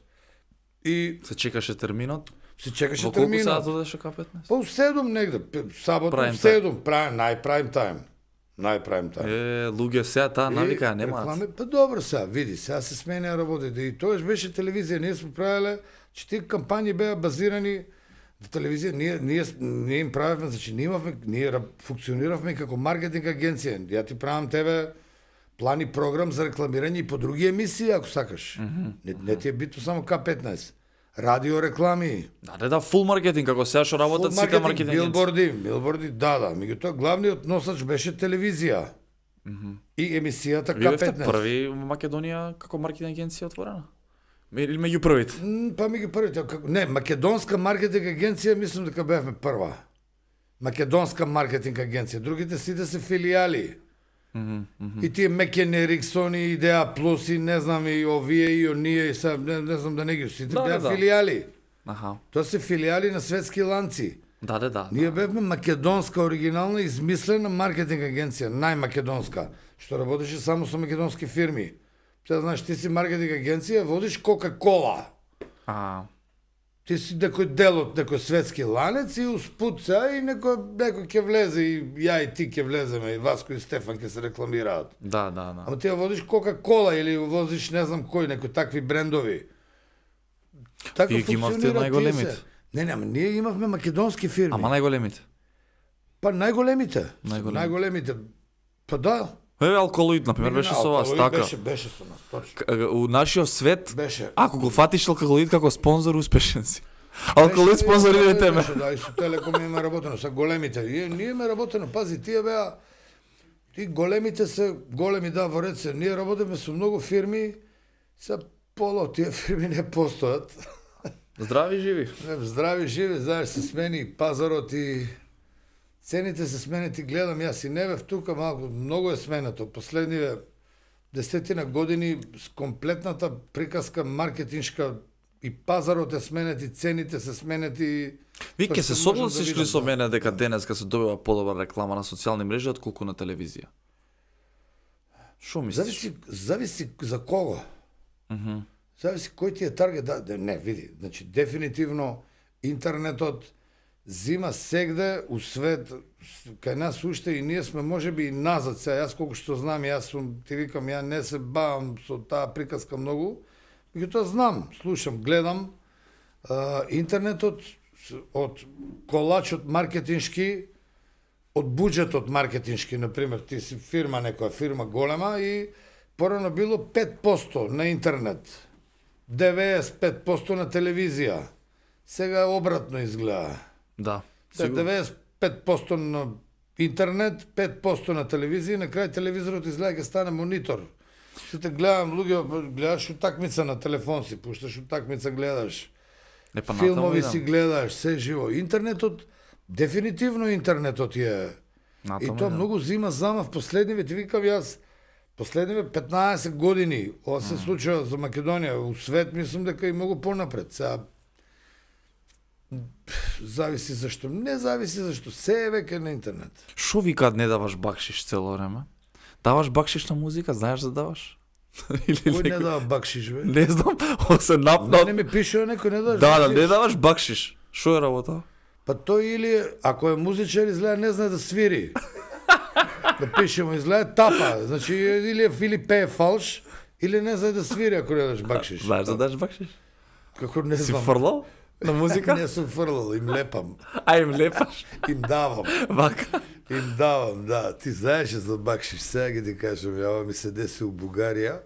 И Се чекаше терминот. се чекаше Во колку терминот. саат одеше К15? Па у 7 негде, сабота Prime у 7, најпрайм тајм. Најпрайм тајм. Луѓе сега таа навика ја немаат. Реклами, па добро сега, види, сега се сменеа работите. И тоаш беше телевизија, ние сме правеле, че тие кампањи беа базирани во телевизија, ние им правевме, значи ние функциониравме како маркетинг агенција. Ја ти правам тебе план и програм за рекламирање и по други емисии, ако сакаш. Не ти е битно само К15. Радио реклами. Да, фул маркетинг, како сега што работат сите маркетинг агенции. билборди, да. Меѓутоа главниот носач беше телевизија. И емисијата Вие бевте К15. први во Македонија како маркетинг агенција отворена? Или меѓу првите? Па меѓу првите, не, македонска маркетинг агенција мислам дека бевме прва. Македонска маркетинг агенција, другите сите се филијали. И тие Мекен Ериксон и Идеа Плюс и не знам и овие и оние и са, не знам да не ги сите беа филијали. Аха. Тоа се филијали на светски ланци. Да. Ние бевме македонска оригинална измислена маркетинг агенција, најмакедонска, што работеше само со македонски фирми. Сега знаеш, ти си маркетинг агенција, водиш Кока-кола. Ти си некој дел од некој светски ланец и успут сега и некој ќе влезе и ја и ти ќе влеземе и Васко и Стефан ќе се рекламираат. Да. Ама ти ја водиш Кока-кола или возиш не знам кој, некои такви брендови. Така Вие ги имавте функционираат најголемите. тие се. Не, ама ние имавме македонски фирми. Ама најголемите. Па најголемите. Најголемите. Најголемите. Па да. Алколоид, например, беше со вас, така. Беше со нас, точно. У нашиот свет, Беше. ако го фатиш алколоид како спонзор, успешен си. Алколоид спонзорирате ме. Да, и со Телеком имаме работено, со големите. Ние имаме работено, пази, тие беа, ти големите се, големи да, во ред се, ние работиме со многу фирми, са пола од тие фирми не постојат. Здрави живи. Здрави живи, знаеш, се смени пазарот и цените се сменети, гледам јас и не бев тука малку, многу е сменето. Последниве 10 години с комплетната приказка маркетиншка и пазарот е сменети, цените се сменети. Ви ќе се согласиш ли со да. мене дека денеска се добива подобра реклама на социјални мрежи отколку на телевизија? Шо мислиш? Зависи за кого. Зависи кој ти е таргет. Не, види, значи дефинитивно интернетот зима сегде у свет, кај нас уште и ние сме можеби и назад сега, јас колку што знам, јас сум, ти викам, ја не се бавам со таа приказка многу, меѓутоа знам, слушам, гледам, интернетот од колачот маркетиншки, од буџетот маркетиншки, например, ти си фирма, некоја фирма голема и порано било 5% на интернет, 95% на телевизија, сега обратно изгледа. Да. 95% на интернет, 5% на телевизија, на крај телевизорот изгледа ќе стане монитор. Сите гледам луѓе, гледаш утакмица на телефон си, пушташ утакмица, гледаш. Филмови си гледаш, се живо. Интернетот, дефинитивно интернетот е. И тоа многу зима зама в последниве, ти викам јас, последниве 15 години, ова се случува за Македонија, у свет мислам дека и многу понапред. Сега зависи зашто, не зависи зашто, се е веќе на интернет. Шо викаат не даваш бакшиш цело време? Даваш бакшиш на музика, знаеш да даваш? Кој не дава бакшиш, бе? Не знам, се напнат. Не ми пишува некој не даваш Да, бакшиш. не даваш бакшиш. Шо е работа? Па тој или, ако е музичар, изгледа не знае да свири. Да пишемо, изгледа тапа. Значи, или пее фалш, или не знае да свири, ако не даш бакшиш. Знаеш да даш бакшиш? Како не Си знам. фрлал? на музика? Не сум фрлал, им лепам. А им лепаш? Им давам. Вака. Им давам, да. Ти знаеш за бакшиш, сега ги ти кажам, ова ми се деси у Бугарија.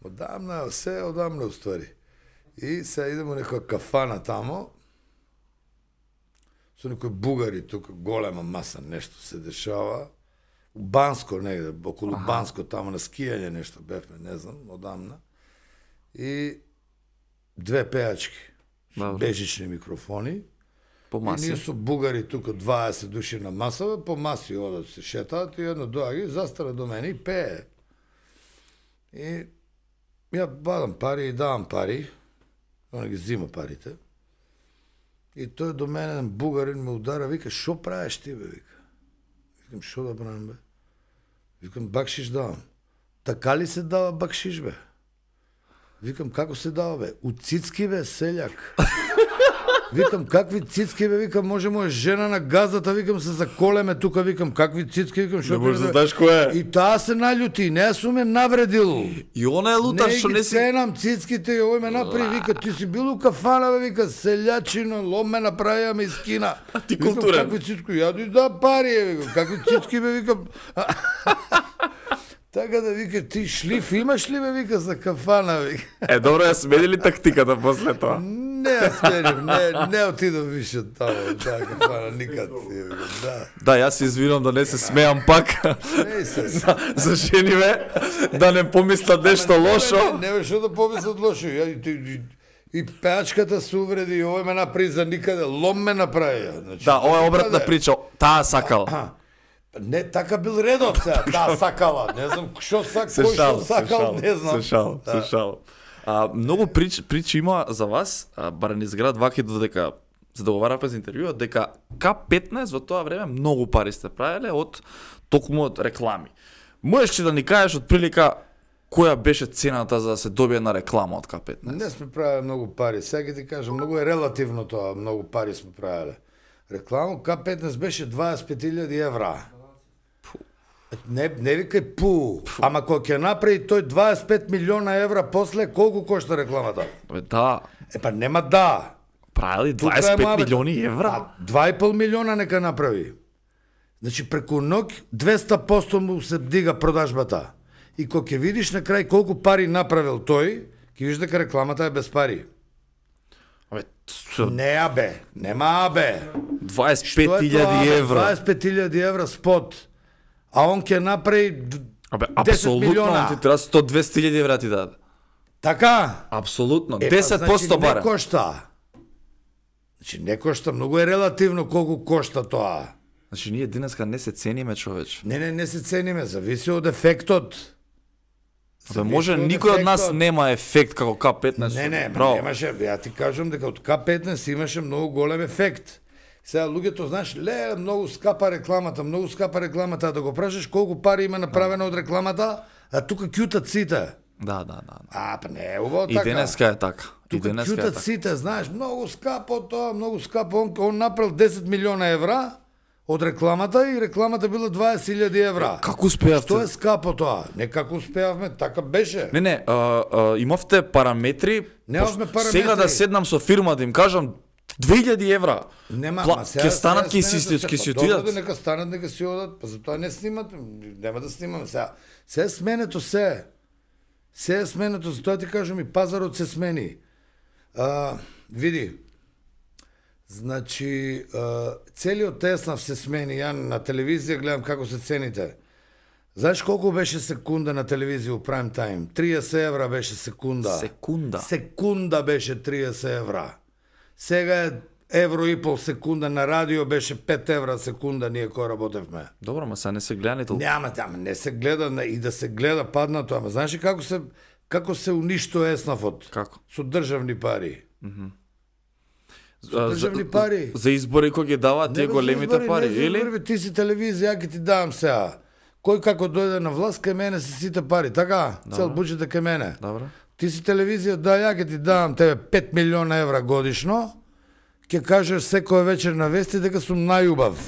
Одамна, се одамна уствари. И сега идемо некоја кафана тамо, со некои бугари, тука голема маса, нешто се дешава. У Банско негде, околу Банско, тамо на скијање нешто бевме, не знам, одамна. И две пеачки, со бежични микрофони. По маси. И ние со бугари тука 20 души на масава, по маси одат се шетаат и едно доаѓа и застара до мене и пее. И ја бадам пари и давам пари, он ги зима парите. И тој до мене, еден бугарин ме удара, вика, шо правиш ти, бе, вика. Викам, шо да правам, бе? Викам, бакшиш давам. Така ли се дава бакшиш, бе? Викам, како се дава, бе? У цицки, бе, селјак. Викам, какви цицки, бе, викам, може моја жена на газата, викам, се заколеме тука, викам, какви цицки, викам, шо не можеш да знаеш кој е. И таа се наљути, не сум ме навредил. И она е лутар, што не Не си... ги ценам цицките и овој ме направи, вика, ти си бил у кафана, бе, вика, селјачино, лом ме направија, ме искина. А ти Викам, културен. какви цицки, ја дој да пари, викам, какви цицки, бе, викам. Така да вика, ти шлиф имаш ли, бе, вика, за кафана, вика. Добро, ја смени ли тактиката после тоа? Не ја сменив, не отидов више тамо, таа кафана, никад, да. Да, јас се извинувам да не се смеам пак. Не се. За жениве, да не помислат нешто лошо. Не беше да помислат лошо. И пеачката се увреди, и овој ме направи за никаде, лом ме направи. Значи, Да, ова е обратна прича. Таа сакал. Не, така бил редот сега, таа сакала. Не знам кој што сакал, не знам. Се шал. Многу причи има за вас, барем низ град Ваки, додека се договараме за интервјуа, дека К15 во тоа време многу пари сте правеле од токму од реклами. Можеш ли да ни кажеш од прилика која беше цената за да се добие на реклама од К15? Не сме правили многу пари. Сега ти кажам, многу е релативно тоа, многу пари сме правиле. Реклама К15 беше 25.000 евра. Не викај пу, ама кога ќе направи тој 25 милиона евра после, колку кошта рекламата? Да. Па нема да. Правили 25 милиони евра? 2,5 милиона нека направи. Значи преку ноќ 200% му се дига продажбата. И кога ќе видиш на крај колку пари направил тој, ќе видиш дека рекламата е без пари. Не абе, нема абе. 25.000 евра. 25.000 евра спот. А он ќе направи 10 милиона. Ти треба 100-200.000 евра ти даде. Така? Апсолутно. Значи, 10% бара. Не кошта. Значи не кошта, многу е релативно колку кошта тоа. Значи ние денеска не се цениме, човече. Не се цениме, зависи од ефектот. Може никој од нас нема ефект како К15. Не, немаше, ја ти кажам дека од К15 имаше многу голем ефект. Сега луѓето, знаеш, многу скапа рекламата, да го прашаш колку пари има направено од рекламата, а тука кјутат сите. Да. Па не е убаво така. И денеска е така. Тука кјутат сите, знаеш, многу скапо тоа, многу скапо. Он направил 10 милиона евра од рекламата и рекламата била 20.000 евра. Како успеавте? Што е скапо тоа? Не како успеавме, така беше. Не, имавте параметри. Немавме параметри. Сега да седнам со фирма да им кажам 2000 евра. Нема, ќе станат ќе си отидат. Добро, нека станат, нека си одат, па затоа не снимат, нема да снимаме сега. Се е сменето се. Се е сменето, затоа ти кажам и пазарот се смени. Види, значи, целиот Теснав се смени, ја на телевизија гледам како се цените. Знаеш колку беше секунда на телевизија у прайм тајм? 30 евра беше секунда. Секунда беше 30 евра. Сега е евро и пол секунда, на радио беше 5 евра секунда ние кој работевме. Добро, ма сега не се гледа ни толку. Няма, не се гледа, и да се гледа паднато, ама знаеш ли како се уништува еснафот? Како? Со државни пари. Со државни пари. За избори кој ги даваат тие големите пари, или? Ти си телевизија, ја ќе ти давам сега. Кој како дојде на власт, кај мене се сите пари, така? Цел буџет е кај мене. Добро. Ти си телевизија, да, ја ќе ти давам тебе 5 милиона евра годишно, ќе кажеш секоја вечер на вести дека сум најубав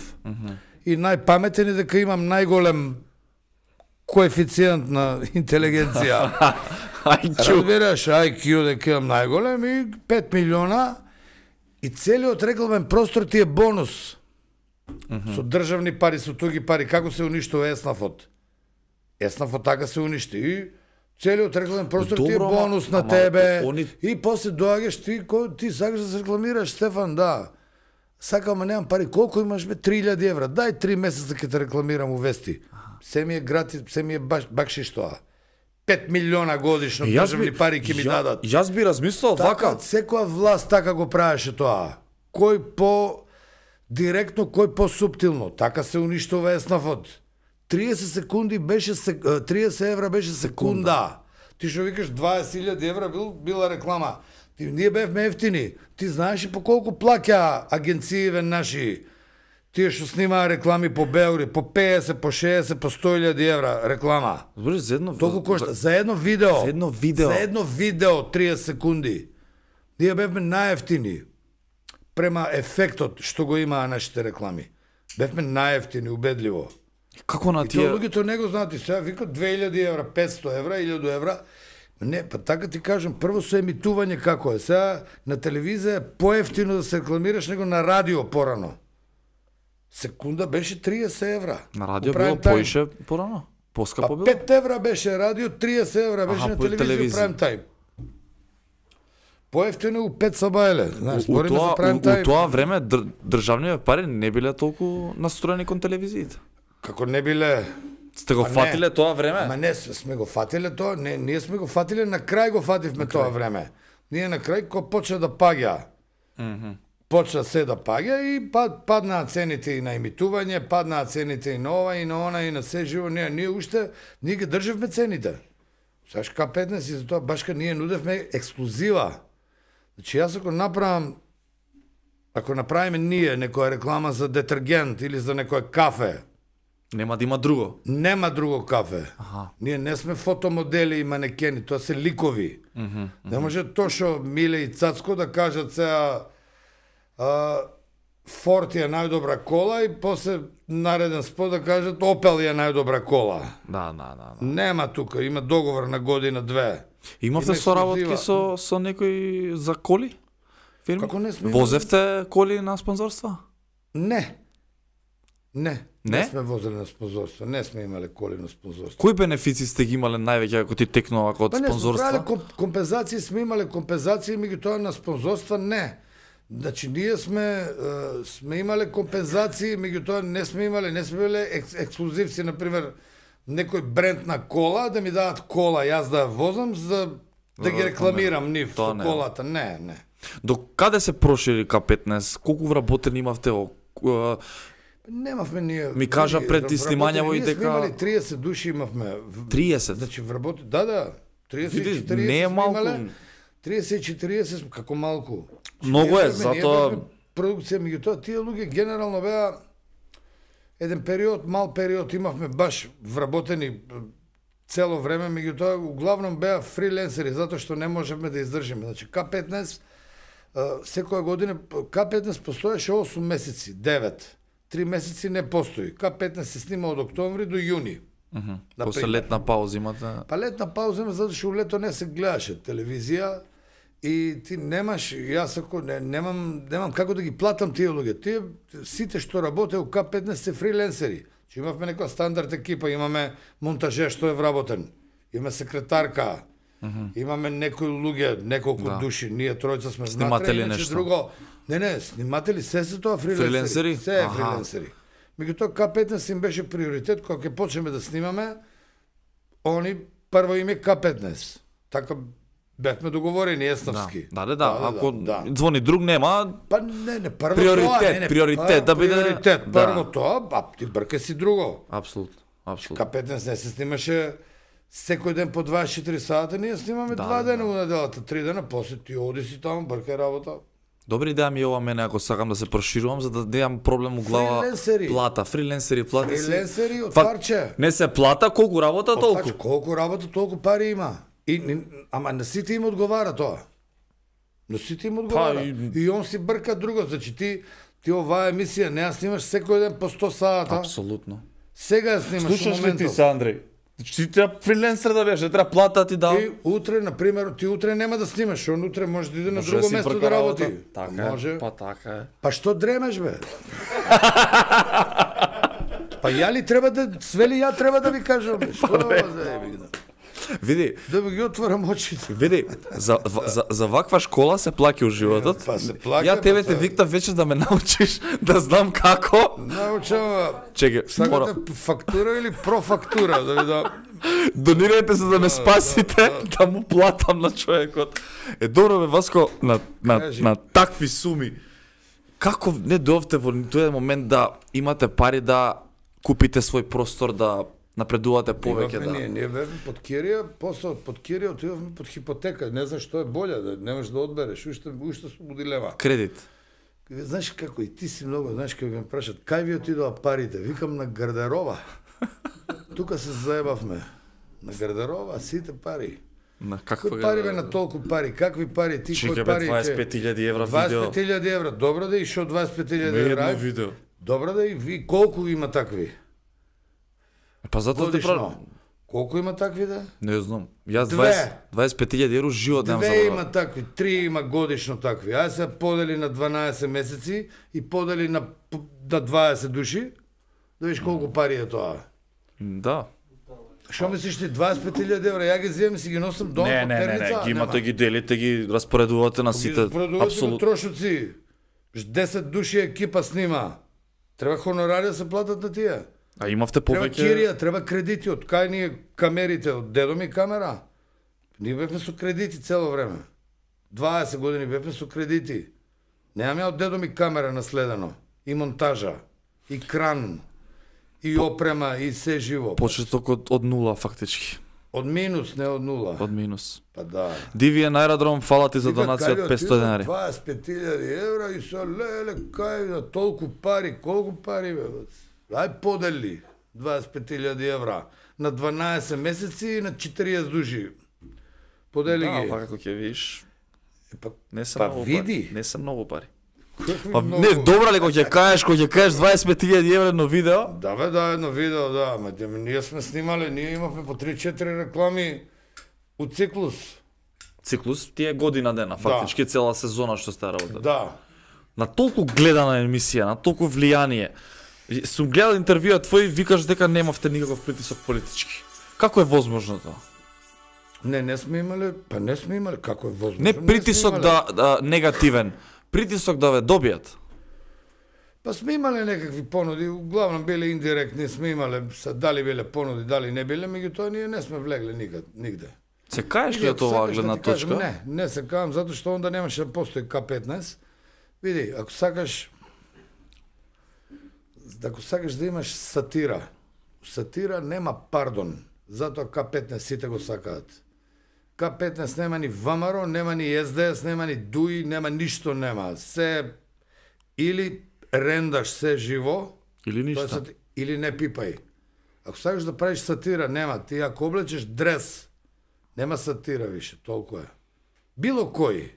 и најпаметен и дека имам најголем коефициент на интелигенција. IQ. Разбираш, IQ дека имам најголем и 5 милиона и целиот рекламен простор ти е бонус. Со државни пари, со туги пари, како се уништува Еснафот? Еснафот така се уништи и целиот рекламен простор ти е Добро, бонус на ама тебе они- и после доаѓаш ти сакаш да се рекламираш, Стефан, да. Сакам, ама немам пари. Колку имаш, бе? 3000 евра. Дај 3 месеца ќе те рекламирам у Вести. Се ми е гратис, се ми е бакшиш тоа. 5 милиона годишно државни пари ќе ми дадат. Јас би размислил Така, вака. секоја власт така го правеше тоа. Кој по директно, кој по суптилно. Така се уништува Еснафот. 30 секунди беше 30 евра беше секунда. Ти што викаш 20.000 евра била реклама. Ние бевме ефтини. Ти знаеш и по колку плаќа агенцииве наши тие што снимаа реклами по Белград, по 50, по 60, по 100.000 евра реклама. Збориш за едно Толку кошта за едно видео. За едно видео. За едно видео 30 секунди. Ние бевме најефтини према ефектот што го имаа нашите реклами. Бевме најефтини, убедливо. Како на И тоа тие луѓето не го знаат и сега викат 2000 евра, 500 евра, 1000 евра. Не, па така ти кажам, прво со емитување како е. Сега на телевизија е поевтино да се рекламираш него на радио порано. Секунда беше 30 евра. на радио Во било прайм тајм. поише порано? Па Поскапо било? 5 евра беше радио, 30 евра беше Аха, на по телевизија телевизија. прайм тајм. Поевтино у 5 сабајле, знаеш, У збориме за прайм у тајм. тоа време државните пари не биле толку настроени кон телевизиите. Како не биле. Сте го Па не. фатиле тоа време? Ама не сме го фатиле тоа, не, ние сме го фатиле на крај го фативме тоа време. Ние на крај кога почна да паѓа. Почна се да паѓа и паднаа цените и на емитување, паднаа цените и на ова и на она и на се живо. Ние уште ние ги државме цените. Саш К15 и за тоа башка ние нудевме ексклузива. Значи јас ако направиме ние некоја реклама за детергент или за некој кафе, Нема да има друго. нема друго кафе. Аха. Ние не сме фотомодели и манекени, тоа се ликови. Не може Тошо, Миле и Цацко да кажат сега Форд е најдобра кола и после нареден спот да кажат Опел е најдобра кола. Да. Нема тука, има договор на година две. Имавте Има соработки ексклузива. со некои за коли? Фирми? Како не сме имали? Возевте коли на спонзорства? Не. Не Не? сме возели на спонзорство, не сме имале коли на спонзорство. Кои бенефиции сте ги имале највеќе ако ти текнува од Па не сме спонзорства? правиле компензации, сме имале компензации, меѓутоа на спонзорства не. Значи ние сме имале компензации, меѓутоа не сме имале ексклузивци, например, некој бренд на кола да ми дадат кола, јас да ја возам за да ги рекламирам нив Тоа со не. колата. Не. До каде се прошири К15? Колку вработени имавте? Немавме ние. Ми кажа ние пред вработени, снимањаво и ние сме дека- имали 30 души имавме. 30? Значи вработи, да, 30 и Види, 40 не е сме малку. имале. 30 и 40 сме, како малку. Многу е, Ние затоа- бевме продукција, меѓутоа тие луѓе генерално беа еден период, мал период имавме баш вработени цело време, меѓутоа углавном беа фриленсери затоа што не можевме да издржиме. Значи К15 секоја година К15 постоеше 8 месеци, 9. 3 месеци не постои. К15 се снима од октомври до јуни. После Например. летна пауза имате. Па летна пауза има затоа што у лето не се гледаше телевизија и ти немаш, јас ако немам како да ги платам тие луѓе. Тие сите што работе у К15 се фриленсери. Че имавме некоја стандард екипа, имаме монтажер што е вработен, имаме секретарка, имаме некои луѓе, неколку Да. души, ние тројца сме Сниматели внатре, иначе нешто. друго. Не, сниматели се тоа фриленсери. Фриленсери? Се е Аха. фриленсери. Меѓутоа К15 им беше приоритет кога ќе почнеме да снимаме, они прво име К15. Така бевме договорени еснафски. Да. Ако звони друг нема, Па не, прво Приоритет, тоа, приоритет да биде- приоритет, да. прво тоа, ти брка си друго. апсолутно. К15 не се снимаше секој ден по 24 сата, ние снимаме Да, 2 дена у неделата, 3 дена, после ти оди си таму, бркај работа. Добри идеја ми е ова мене ако сакам да се проширувам за да немам проблем у глава. Фриленсери. Фриленсери плата си. Фриленсери од Па, парче. Не се плата, колку работа толку. Толку. Колку работа, толку пари има. Ама на сите им одговара тоа. На сите им одговара. И он си брка друго, значи ти оваа емисија не ја снимаш секој ден по 100 сата. Апсолутно. Сега ја снимаш во моментот. Андреј? Ти треба фриленсер да беше, треба плата ти дал. И утре, например, ти утре нема да снимаш, он утре може да иде на друго место да работи. Така може. Па така е. Па што дремеш, бе? Па ја ли треба да, свели ја треба да ви кажам, бе? Што заеби да? Види, Да ви ги отворам очите. види, за ваква школа се плаќа у животот. Па се плаќа. Ја тебе те викнав вечер да ме научиш да знам како. Научам, Чекај, сакате фактура или профактура, да ви да... Донирајте се да ме спасите, да му платам на човекот. Добро бе, Васко, на такви суми. Како не дојавте во тој момент да имате пари да купите свој простор, да напредувате повеќе, да? Ние бевме под Кирија, после под Кирија отидовме под хипотека. Не знам што е боле, да не можеш да одбереш, уште сум дилема. Кредит. Знаеш како и ти си многу, знаеш како ме прашат, кај ви отидоа парите? Викам на гардероба. Тука се заебавме. На гардероба, сите пари. На каква Кои пари бе на толку пари? Какви пари? Ти кои пари? 25.000 евра видео. 25.000 евра. Добро да и шо 25.000 Не евра? едно видео. Добро да и ви колку има такви? Па затоа те Годишно. Колку има такви да? Не знам. Јас Две. 25.000 евро живот немам Две забравил. има такви, 3 има годишно такви. Ај се подели на 12 месеци и подели на 20 души, да видиш колку пари е тоа. Да. Што мислиш ти 25.000 евра, ја ги земам и си ги носам дома по Перница? ги имате, ги делите, ги распоредувате на сите. Продувате Апсолутно. трошоци. 10 души екипа снима. Треба хонорари да се платат на тие. А имавте Треба повеќе. кирија, треба кредити, од кај ние камерите, од дедо ми камера. Ние бевме со кредити цело време. 20 години бевме со кредити. Немаме од дедо ми камера наследено. И монтажа, и кран, и опрема, и се живо. Почеток од нула фактички. Од минус, не од нула. Од минус. Па да. Дивиен аеродром, фала ти за Вика, донација од кај 500 денари. 25.000 евра и со леле, кај на толку пари, колку пари бе? Ај подели 25.000 евра на 12 месеци и на 40 души. Подели Да, ги. па како ќе видиш, Па, не се па многу види. пари. Не се многу пари. какви Па многу- не, добра ли кога ќе кажеш 25.000 евра на видео? Да бе, да, едно видео, да, ма ние сме снимале, ние имавме по 3-4 реклами у циклус. Циклус ти е година дена, фактички цела сезона што сте работели. Да. На толку гледана емисија, на толку влијание. Сум гледал интервјуа твои, викаш дека немавте никаков притисок политички. Како е возможно тоа? Не сме имале, па не сме имале, како е возможно. Не сме притисок имале. да негативен, притисок да ве добијат. Па сме имале некакви понуди, углавном биле индиректни, сме имале, дали биле понуди, дали не биле, меѓутоа ние не сме влегле никаде. Се каеш ли Или, од ако оваа сакаш да гледна ти кажам, точка? Не се кавам, затоа што онда немаше да постои К15. Види, ако сакаш да имаш сатира, сатира нема пардон, затоа К15 сите го сакаат. К15 нема ни ВМРО, нема ни СДС, нема ни ДУИ, нема ништо нема. Се или рендаш се живо, Или ништо? или не пипај. Ако сакаш да правиш сатира, нема. Ти ако облечеш дрес, нема сатира више, толку е. Било кој.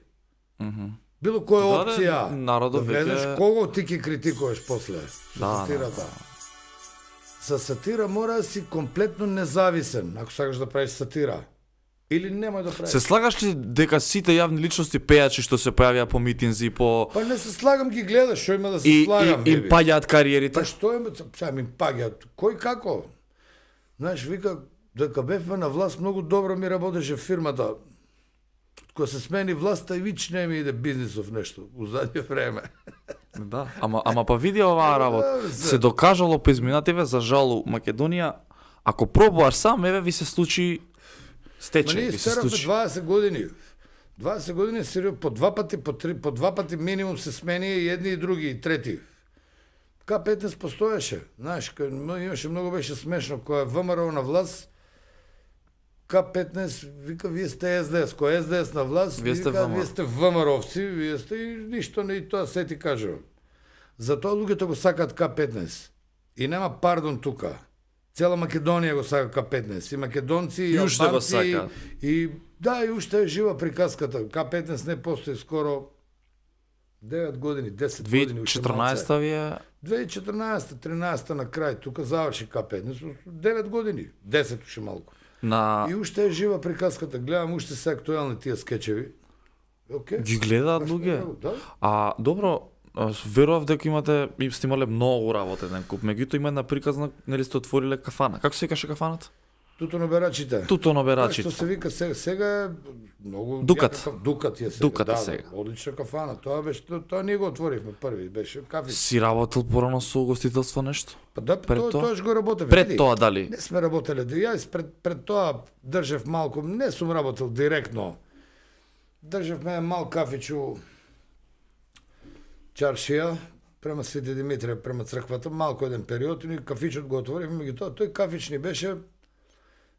Било која Да, опција. народот да влезеш, веќе- кого ти ќе критикуваш после. Со Да, сатирата. Со сатира мора да си комплетно независен, ако сакаш да правиш сатира. Или немој да правиш. Се слагаш ли дека сите јавни личности пејачи што се појавија по митинзи, по Па не се слагам, ги гледаш, што има да се и слагам. им беби. паѓаат кариерите? Па што има, сега им паѓаат. Кој како? Знаеш, вика, дека бевме на власт, многу добро ми работеше фирмата. Кога се смени власта и вич не ми иде бизнисов нешто, у задње време. Да, ама па види оваа работа. Да, Се докажало по изминативе за жалу Македонија, ако пробуваш сам, еве ви се случи Ма стечај, ние ви се стеравме случи. 20 години. 20 години сериозно, по два пати минимум се смени и едни и други и трети. К15 постоеше. Знаеш, имаше многу беше смешно кога е ВМРО на власт. К15 вика вие сте СДС, кој е СДС на власт, Вие сте вика ВМРО. вие сте ВМРО-вци, вие сте и ништо не и тоа се ти кажувам. Затоа луѓето го сакаат К15. И нема пардон тука. Цела Македонија го сака К15. И македонци, и И уште го албанци, сакаат. и да, и уште е жива приказката. К15 не постои скоро 9 години, 10 години. уште малце. 2014 ви е 2014-13 на крај, тука заврши К15, 9 години, 10 уште малку. И уште е жива приказката, гледам уште се актуелни тие скечеви. Okay. Ги гледаат луѓе? Да. Добро, верував дека и сте имале многу работа еден куп, меѓутоа има една приказна, нели сте отвориле кафана. Како се викаше кафаната? Тутоноберачите. Тутоноберачите. Што се вика сега е многу Дукат. Дукат е сега. Дукат да, сега. Одлична кафана. Тоа ние го отворивме први, беше кафица. Си работел порано со угостителство нешто? Па да, тоа го работев. Пред тоа дали? Не сме работеле. Јас пред тоа држев малку, не сум работел директно. Држевме мал кафичу Чаршија, према Свети Димитрија, према црквата, малку еден период, и кафичот го отворивме, меѓутоа тој кафич ни беше,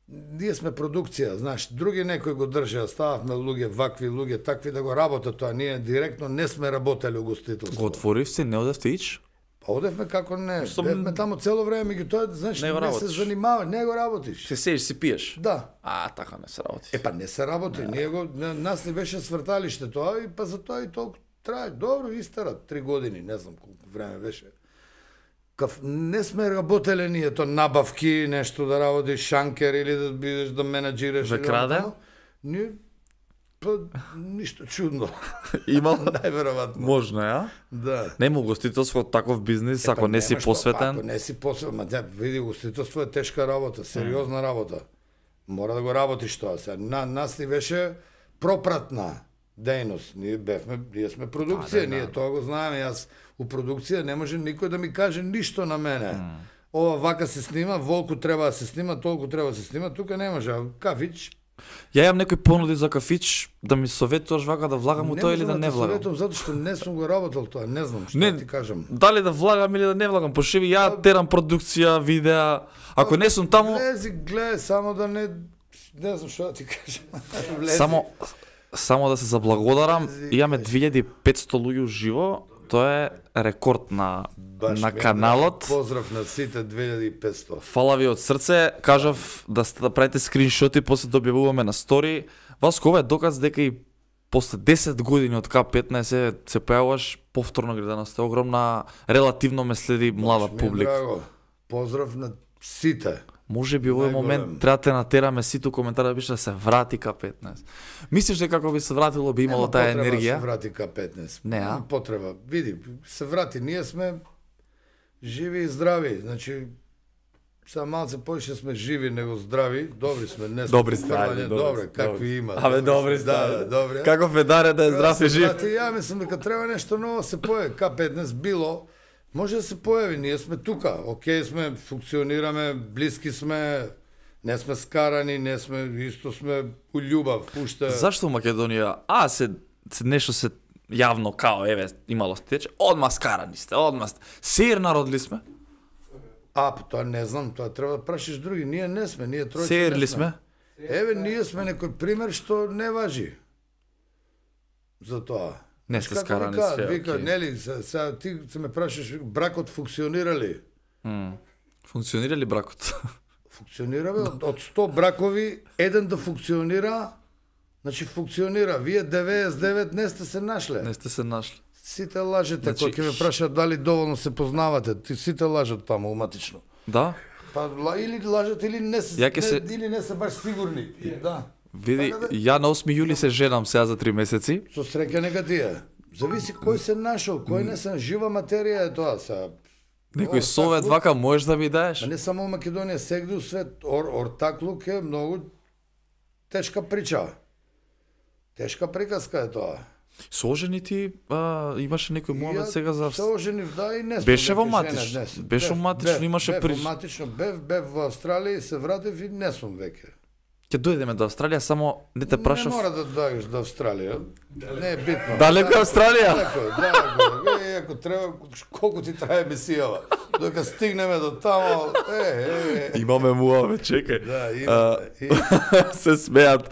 ние сме продукција, знаеш, други некои го држеа, стававме луѓе, вакви луѓе, такви да го работат тоа, ние директно не сме работеле угостителство. Го отворив се, не одевте ич? Па одевме како не, бевме таму цело време, меѓутоа, знаеш, не се занимаваш, не го работиш. Се седиш, си пиеш? Да. Така не се работи. Па не се работи, ние го, нас не беше сврталиште тоа, и па за тоа и толку трае, добро, истара, 3 години, не знам колку време беше. Не сме работеле ние то набавки, нешто да работиш шанкер или да бидеш да менаџираш. Ве краде? Ние, па, ништо чудно. Имал? Најверојатно. Можно, ја? Да. Нема угостителство таков бизнис, ако не си посветен. Ако не си посветен, ма види, угостителство е тешка работа, сериозна работа. Мора да го работиш тоа. Нас ни беше пропратна дејност. Ние сме продукција, ние тоа го знаеме. Јас у продукција не може никој да ми каже ништо на мене. Ова вака се снима, волку треба да се снима, толку треба да се снима, тука не може. Кафич. Ја имам некои понуди за кафич, да ми советуваш вака да влагам у тоа или да не влагам. Не советувам затоа што не сум го работел тоа, не знам што ти кажам. Дали да влагам или да не влагам, пошеви ја терам продукција, видеа. Ако не сум таму, влези, гледај, само да не знам што ти кажам. Само да се заблагодарам, имаме 2500 луѓе уживо, тоа е рекорд на каналот. Поздрав на сите 2500. Фала ви од срце, кажав да правите скриншоти, после да објавуваме на стори. Васко, ова е доказ дека и после 10 години од К15 се појавуваш повторно гледано, сте огромна, релативно ме следи млада публика. Драго, поздрав на сите. Може би овој момент треба да натераме сите коментар да бише да се врати К15. Мислиш дека како би се вратило би имало таа енергија? Нема потреба да се врати К15. Не, Нема потреба. Види, се врати, ние сме живи и здрави. Значи, сега малце повеќе сме живи него здрави, добри сме, не сме. Добри сте, добре, какви има. Абе, добри сте. Да, добре. Како Федаре да е здрав и жив. Ја мислам дека треба нешто ново се појави. К15 било, може да се појави, ние сме тука, окей сме, функционираме, блиски сме, не сме скарани, не сме, исто сме у љубав, уште. Зашто Македонија, нешто се јавно као, еве, имало стече, одма скарани сте, одма сте, сеир народ ли сме? Тоа не знам, тоа треба да прашиш други, ние не сме, ние тројца сеир не ли сме. сме? Еве, ние сме некој пример што не важи за тоа. Не сте скарани све, вика, окей. нели, сега ти се ме прашаш, бракот функционира ли? Функционира ли бракот? Функционира, бе, од 100 бракови, еден да функционира, значи функционира. Вие 99 не сте се нашле. Не сте се нашли. Сите лажете, Значи, кој ќе ме прашат дали доволно се познавате, сите лажат таму уматично. Да? Па или лажат или не се, или не се баш сигурни. Да. Види, ја на 8 јули се женам сега за 3 месеци. Со среќа нека тие. Зависи кој се нашол, кој не се жива материја е тоа сега. Некој совет вака можеш да ми даеш? А не само Македонија, сегде у свет ортаклук е многу тешка прича. Тешка приказка е тоа. Сожени ти имаше некој момент сега за Соженив, да, и не беше во матично. Беше во матично, имаше прича. Бев во Австралија и се вратив и не сум веќе. Ќе дојдеме до Австралија, само не те прашав. Не мора да дојдеш до Австралија. Не е битно. Далеко е Австралија? Далеко, ако треба, колку ти трае емисијава. Додека стигнеме до тамо, Имаме муаве, чекај. Да, имаме. Се смеат.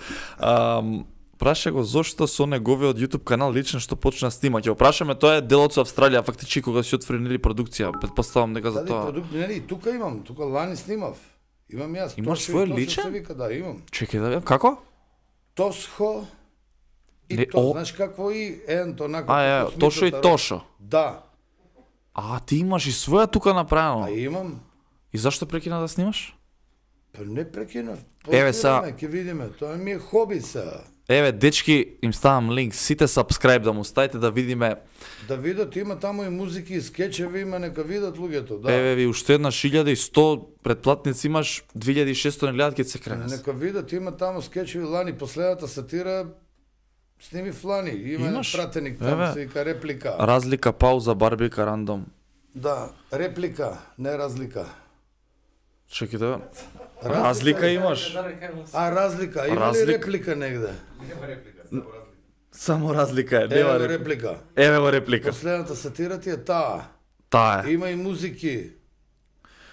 Праша го зошто со неговиот YouTube канал лично што почна снима. Ќе опрашаме, тоа е делот со Австралија, фактички кога си отфренили продукција. Претпоставам дека за тоа. Нели, тука имам, тука лани снимав. Имам јас. Имаш свој личен? Да, имам. Чекај да видам, како? Тосхо и Не, то, знаеш какво и ен то нако. Тошо и Тошо. Да. А, ти имаш и своја тука направено. А имам, И зашто прекина да снимаш? па не прекинав. Еве, са- ќе видиме, тоа ми е хоби сега. Еве, дечки, им ставам линк, сите subscribe да му ставите да видиме. Да видат, има таму и музики и скечеви, има нека видат луѓето, да. Еве ви уште една 1100 претплатници имаш, 2600 не гледат ке се кренес. Нека видат, има таму скечеви Лани, последната сатира сними в Лани, има Имаш? пратеник таму, Еве. се вика реплика. Разлика, пауза, барбика, рандом. Да, реплика, не разлика. Чекай да... Разлика имаш. А, разлика, има ли реплика негде? Само разлика е, нема Ево реплика. реплика. Еве го реплика. Последната сатира ти е таа. Таа е. Има и музики.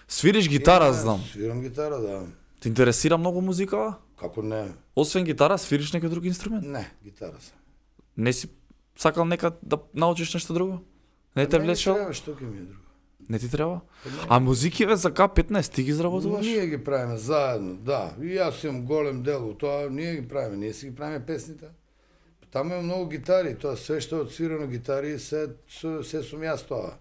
Свириш гитара, Има- знам. Свирам гитара, да. Те интересира многу музика? Како не? Освен гитара, свириш некој друг инструмент? Не, гитара се. Не си сакал нека да научиш нешто друго? Не те Не ми влечел? треба, што ќе ми е друго. Не ти треба? А музикиве за К15 ти ги изработуваш? Ние ги правиме заедно, да. И јас имам голем дел у тоа, ние ги правиме, ние си ги правиме песните. Таму има многу гитари, тоа се што е отсвирано гитари, се сум јас тоа.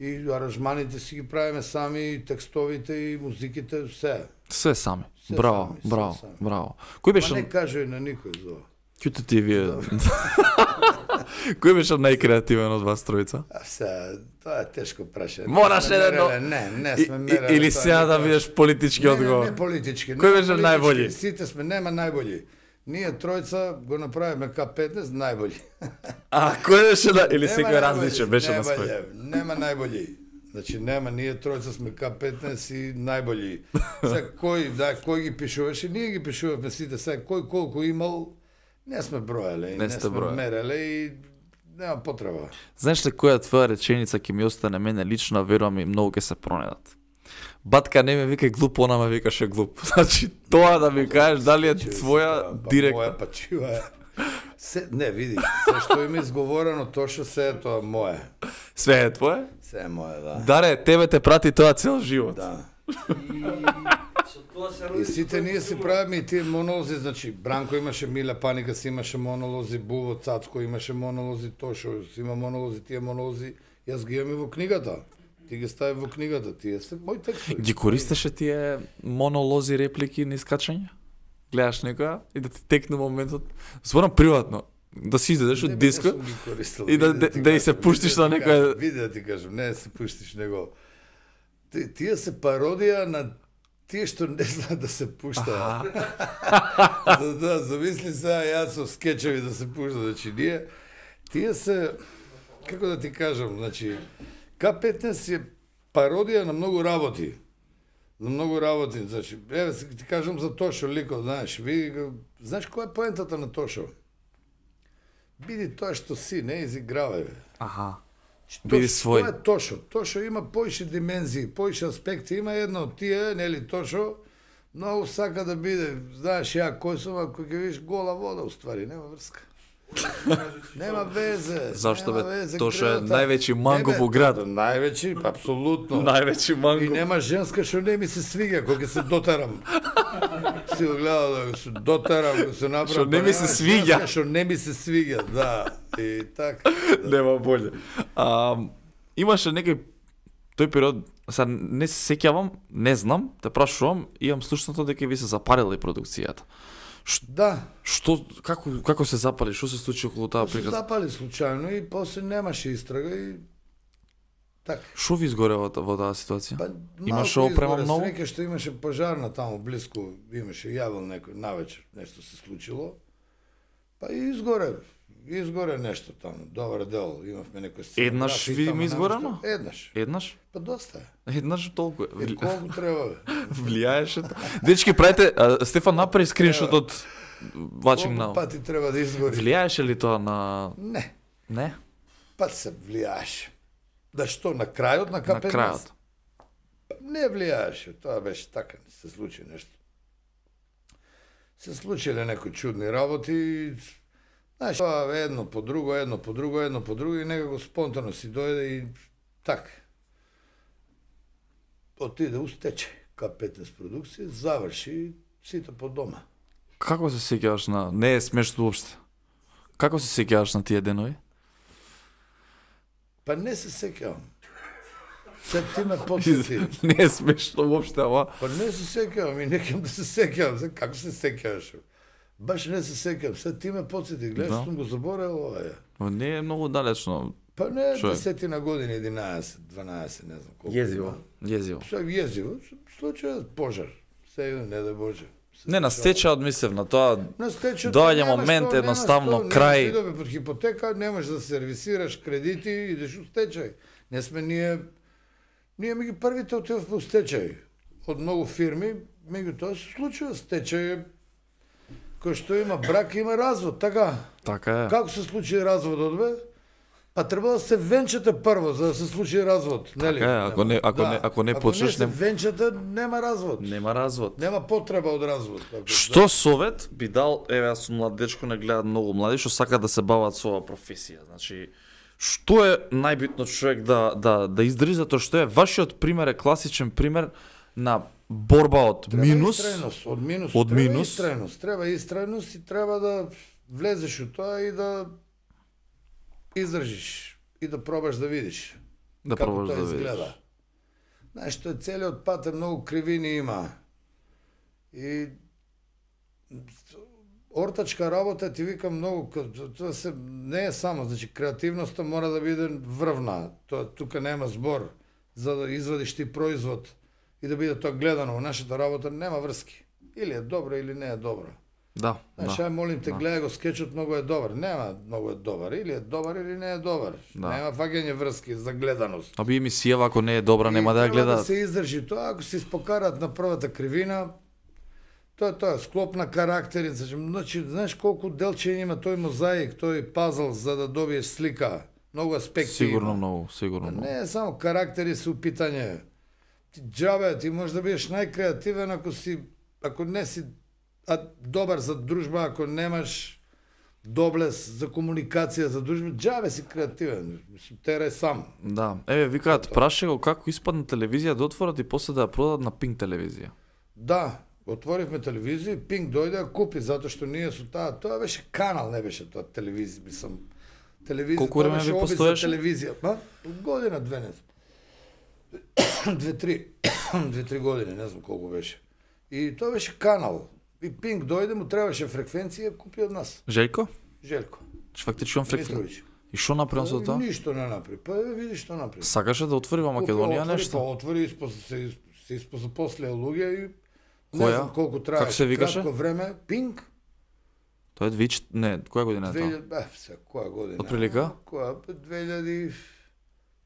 И аранжманите си ги правиме сами, и текстовите и музиките, се. Све сами. Се Браво, сами, се браво, сами. браво. Кој Ма беше не кажи на никој за ова. Кјуто ти вие? Кој беше најкреативен од вас тројца? А се, тоа е тешко прашање. Мораш Не сме едно- мереле, Не сме мереле. Или тоа, сега не да тоа. видиш политички одговор? Не политички. Кој не беше политички, најбољи? Сите сме, нема најбољи. Ние тројца го направиме К15 најбољи. А, кој беше на... Или Нема секој најбољи, различен беше на нема свој? љев, Нема најбољи. Значи нема, ние тројца сме К15 и најбољи. Сега кој ги пишуваше? Ние ги пишувавме сите, сега кој колку имал, не сме броеле, Не не сте сме броеле. мереле и нема потреба. Знаеш ли која твоја реченица ќе ми остане мене лично, верувам и многу ќе се пронедат. Батка не ме вика глуп, она ме викаше глуп. Значи, тоа да ми кажеш дали е твоја директно. Моја пачива е. Не, види, се што има изговорено, точно се е тоа мое. Све е твое? Се е мое, да. Даре, тебе те прати тоа цел живот. Да. И сите ние си правиме и тие монолози, значи Бранко имаше, Миле Паника си имаше монолози, Буво Цацко имаше монолози, Тошо си има монолози, тие монолози, јас ги имам и во книгата. Ти ги стави во книгата, тие се мои текстови. Ги користеше тие монолози, реплики на искачање? Гледаш некоја и да ти текне моментот. Зборам приватно. Да си изедеш од диско и да и се пуштиш на некоја... Види да ти кажам, не да се пуштиш, него... Тие се пародија на тие што не знаат да се пушта. Да, замисли сега јас со скечеви да се пушта, значи ние... Тие се... Како да ти кажам, значи... К15 е пародија на многу работи. На многу работи, значи, еве ти кажам за Тошо ликот, знаеш, знаеш која е поентата на Тошо? Биди тоа што си, не изигравај, бе. Аха. Биди свој. Тоа е Тошо. Тошо има поише димензии, поише аспекти, има едно од тие, нели Тошо, многу сака да биде, знаеш ја кој сум, ако ќе видиш гола вода, уствари, нема врска. Нема везе. Зашто, нема бе? везе, Тошо е градата. највеќе манго Не, бе, во град. Највеќе, апсолутно. Највеќе И манго. нема женска што не ми се свига кога ќе се дотарам. Си го гледал да се дотарам, да се направам. Што не па ми се нема свиѓа. женска Што не ми се свига, да. И така. Нема боле. Имаше некој тој период, сега не се сеќавам, не знам, те прашувам, имам слушнато дека ви се запарила и продукцијата. Да. Што како се запали? Што се случи околу таа Се приказ? запали случајно и после немаше истрага и така. Што ви изгоре во таа ситуација? Па, Имаше малку опрема изгоре, многу? Среќа што имаше пожарна таму блиску, имаше јавил некој навечер, нешто се случило. Па и изгоре нешто таму, добар дел, имавме некој сценографија. Еднаш видиме изгорено? Еднаш. Еднаш? Па доста е. Еднаш толку. Е, колку треба, бе? Влијаеше тоа. Дечки, правите, Стефан направи скриншот од watching Колку now. пати треба да изгори? Влијаеше ли тоа на... Не, Не? па се влијаеше. Да што, на крајот на На К15? крајот. Не влијаеше, тоа беше така, се случи нешто. Се случиле некои чудни работи, знаеш, тоа едно по друго и некако спонтано си дојде и така. Отиде устече К15 продукција, заврши сите по дома. Како се сеќаваш на... Не е смешно уопште. Како се сеќаваш на тие денови? Па не се сеќавам. Се ти ме подсети. Не е смешно воопште, ама. Па не се сеќавам и некам да се сеќавам. Како се сеќаваш? Баш не се сеќавам. Се ти ме подсети. Гледаш, сум го заборел ова е. Не е многу далечно. Па не, 10 на години, 11, 12, не знам колку. Језиво. Се језиво. Случај пожар. Се не да Боже. Не, на стечајот мислев на тоа. На стечајот доаѓа момент едноставно крај. Идове под хипотека, немаш да сервисираш кредити, идеш у стечај. Не сме ние ми ги првите отидовме у стечај. Од многу фирми, меѓутоа се случува стечај. Кој што има брак, има развод, така? Така е. Како се случи разводот, бе? Па треба да се венчате прво за да се случи развод, нели? Така е, ако не почнеш, не се венчате, нема развод. Нема развод. Нема потреба од развод. Што совет би дал, еве јас сум млад дечко, не гледат многу млади што сакаат да се бават со оваа професија. Значи, што е најбитно човек да издржи, затоа што е вашиот пример е класичен пример на борба од минус. Треба истрајност и треба да влезеш у тоа и да издржиш и да пробаш да видиш како тоа изгледа. Знаеш, што е целиот пат е многу кривини има. И ортачка работа ти викам многу, тоа се не е само, значи креативноста мора да биде врвна. Тоа тука нема збор за да извадиш ти производ и да биде тоа гледано. Во нашата работа нема врски. Или е добро или не е добро. Да. Знаеш, ај молим те, гледај го скечот, многу е добар. Нема многу е добар. Или е добар или не е добар. Нема фаќање врски за гледаност. Аби емисијава ако не е добра, нема да ја гледаат. Да се издржи тоа, ако се испокарат на првата кривина, тоа е склоп на карактери. Значи, знаеш колку делчиња има тој мозаик, тој пазл за да добиеш слика. Многу аспекти. Сигурно многу. Не е само карактери се у питање. Ти џабе, ти можеш да бидеш најкреативен ако не си добар за дружба, ако немаш доблес за комуникација за дружба, џабе си креативен, терај сам. Да, еве викаат праше го како испадна телевизија да отворат и после да ја продадат на Пинк телевизија. Да, отворивме телевизија, Пинк дојде да купи затоа што ние со тоа беше канал, не беше тоа телевизија, мислам. Телевизија, колку време ви постоеше? Телевизија, година, две, не знам. 2-3 години, не знам колку беше. И тоа беше канал. И Пинк дојде, му требаше фреквенција, купи од нас. Желко? Желко. Фактично фреквенција. И што направи со тоа? Ништо не направи. Па види што направи. Сакаше да отвори во Македонија нешто? Па отвори, се запослеа луѓе и не знам колку трае. Како се викаше? Кратко време, Пинк. Тоа е која година е тоа? Која година? Отприлика? Која?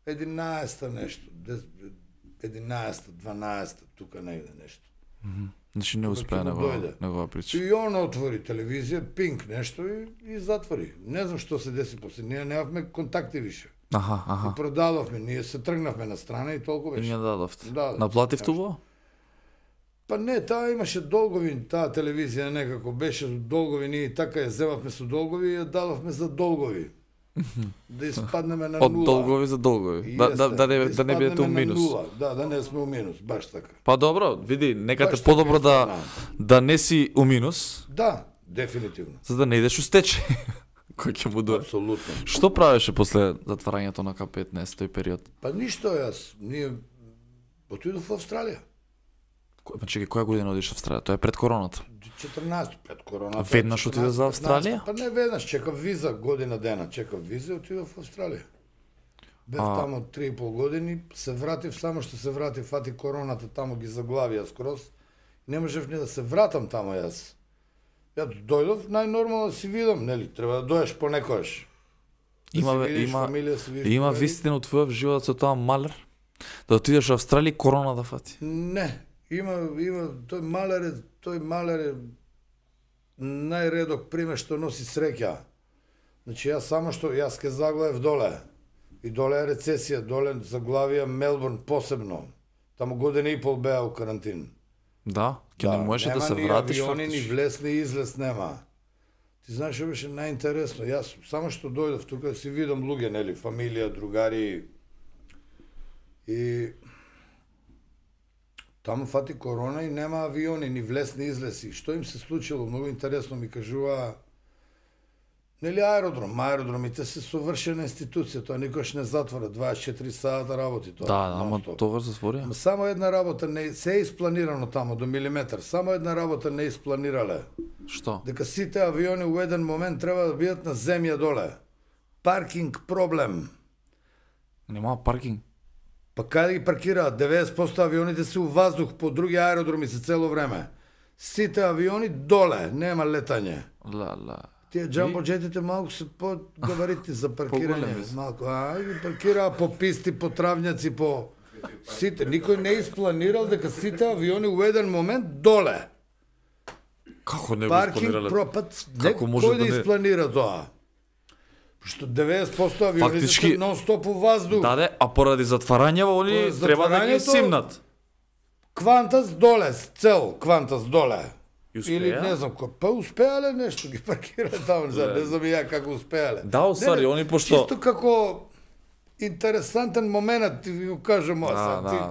2011 нешто. 11, 12, тука негде нешто. Значи не успеа негова прича. И он отвори телевизија, Пинк нешто и затвори. Не знам што се деси после. Ние немавме контакти више. Аха. И продадовме, ние се тргнавме на страна и толку беше. И не дадовте. Да. Наплативте во? Па не, таа имаше долгови, таа телевизија некако беше долгови, ние така ја земавме со долгови и ја дадовме за долгови. Да испаднеме на нула. Од долгови за долгови. Да не бидете у минус. Да не сме у минус, баш така. Па добро, види, некате подобро да не си у минус. Да, дефинитивно. За да не идеш у стечај. Кој ќе му дуе? Апсолутно. Што правеше после затварањето на К15 тој период? Па ништо ние отидов во Австралија. Чекај, која година одиш во Австралија? Тоа е пред короната. 14 пред короната. Веднаш отиде за Австралија? Па не веднаш, чекав виза година дена, чекав виза и отидов во Австралија. Бев тамо 3,5 години, се вратив, само што се вратив, фати короната, тамо ги заглавија скроз. Не можев ни да се вратам тамо јас. Ја дојдов, најнормално да си видам, нели, треба да дојдеш понекогаш. Има вистина од твојот живот со тоа Малер? Да отидеш во Австралија и корона да фати? Не, има тој Малер е најредок пример што носи среќа. Значи јас ке заглавев доле. И доле е рецесија, доле заглавија Мелбурн посебно. Таму година и пол беа у карантин. Да, ке не можеше да се вратиш фактично. Нема ни авиони, ни влез, ни излез нема. Ти знаеш што беше најинтересно? Јас само што дојдов тука си видам луѓе, нели, фамилија, другари. И таму фати корона и нема авиони, ни влез, ни излез. И што им се случило? Многу интересно ми кажува Нели аеродромите се совршена институција, тоа никош не затвора, 24 сата работи тоа. Да, ама тогаш затвори. Само една работа не се е испланирано тамо до милиметар, само една работа не испланирале. Што? Дека сите авиони у еден момент треба да бидат на земја доле. Паркинг проблем. Нема паркинг. Па каде ги паркираат? 90% авионите се у ваздух, по други аеродроми се цело време. Сите авиони доле, нема летање. Тие джамбоджетите малку се по-габаритни за паркирање. Малку, ги паркираа по писти, по травњаци, по... Сите, никој не испланирал дека сите авиони у еден момент доле. Како не го испланирале? Како може да испланира тоа? Што 90% авионите се нон-стоп у ваздух. Да, а поради затварањево они треба да ги симнат. Квантас доле, цел Квантас доле. Или не знам кој, па успеале нешто, ги паркирале таму, не знам и ја како успеале. Да, усари, они пошто... Чисто како интересантен момент, ти ви го кажам,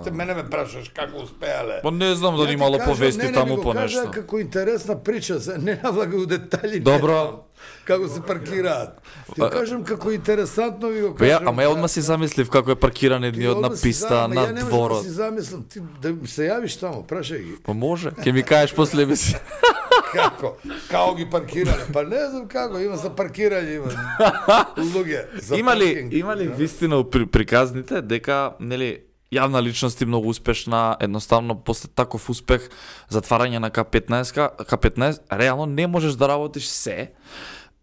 ти мене ме прашаш како успеале. Па не знам дали имало повести таму по нешто. Не, како интересна прича, не навлага у детали. Добро. Како се паркираат. Ти кажам како интересантно ви го кажам. Ама ја одма си замислив како е паркиран едниот на писта, на дворот. Ја не можам да си замислам, ти да се јавиш таму, прашај ги. Па може, ќе ми кажеш после ми си. Како? Као ги паркирале? Па не знам како, има за паркирање, има луѓе. Има ли вистина приказните дека, нели, јавна личност и многу успешна, едноставно после таков успех, затварање на К15, реално не можеш да работиш се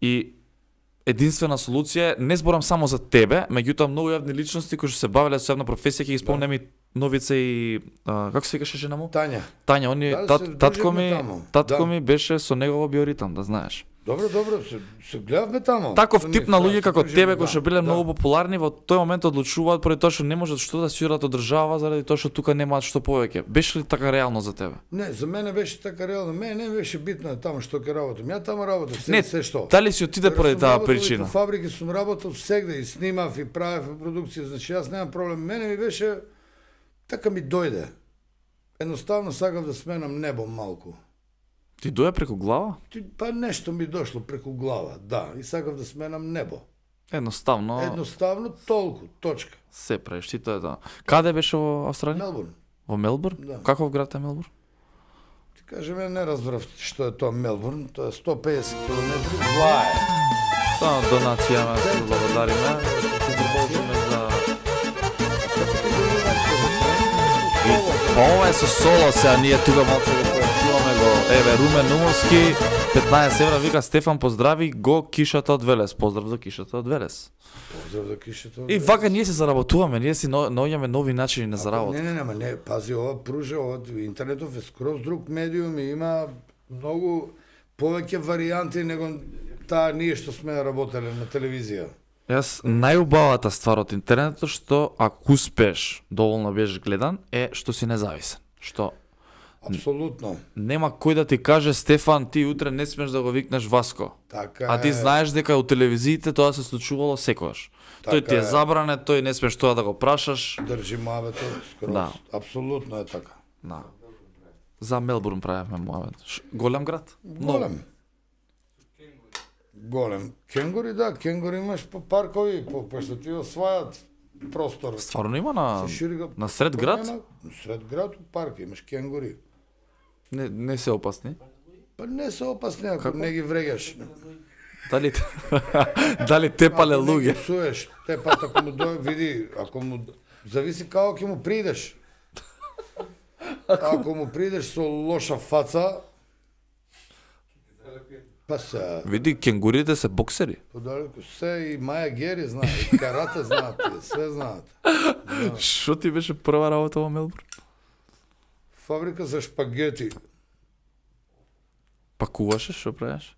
и единствена солуција е, не зборам само за тебе, меѓутоа многу јавни личности кои што се бавеле со една професија, ќе ги спомнем и Новица и како се викаше жена му? Тања, они татко ми беше со негово биоритам, да знаеш. Добро, се гледавме таму. Таков тип на луѓе како тебе кои што биле многу популарни во тој момент одлучуваат поради тоа што не можат што да си урат од држава заради тоа што тука немаат што повеќе. Беше ли така реално за тебе? Не, за мене беше така реално. Мене не беше битно таму што ќе работам. Ја таму работам се што. Дали си отиде поради таа причина? По фабрики сум работел сегде и снимав и правев продукција, значи јас немам проблем. Мене ми беше така ми дојде. Едноставно сакав да сменам небо малку. Ти доја преку глава? Па нешто ми дошло преку глава, да. И сакав да сменам небо. Едноставно толку, точка. Се правиш, ти тоа е тоа. Каде беше во Австралија? Мелбурн. Во Мелбурн? Да. Каков град е Мелбурн? Ти кажеме, не разбрав што е тоа Мелбурн, тоа е 150 км влае. Само донација ме се благодариме. Ти продолжиме за... Па ова е со соло сега, ние тука малце го појачуваме го. Еве, Румен Умовски, 15 евра, вика Стефан, поздрави го кишата од Велес. Поздрав за кишата од Велес. Поздрав за кишата од Велес. И вака ние се заработуваме, ние си наоѓаме нови начини на заработа. Не, пази, ова пружа, интернетов е скроз друг медиум и има многу повеќе варијанти него таа ние што сме работеле на телевизија. Јас најубавата ствар од интернетот што ако успеш доволно беш гледан е што си независен. Што апсолутно нема кој да ти каже Стефан ти утре не смеш да го викнеш Васко. Така а ти знаеш дека у телевизиите тоа се случувало секогаш. Така тој ти е забране, тој не смеш тоа да го прашаш. Држи муабетот скроз. Да. Апсолутно е така. Да. За Мелбурн правевме муабет. Голем град? Голем. Кенгури, да, кенгури имаш по паркови, по што ти освајат простор. Стварно има на сред град? На сред град у парк имаш кенгури. Не се опасни? Па не се опасни, ако не ги врегаш. Дали тепале луѓе? Ако псуеш, тепат ако му види, ако му зависи како ќе му придеш. Ако му придеш со лоша фаца, па се... Види, кенгурите се боксери. Подалеку се и Маја Гери знаат, и карате знаат, све знаат. Шо ти беше прва работа во Мелбурн? Фабрика за шпагети. Пакуваше, шо правиш?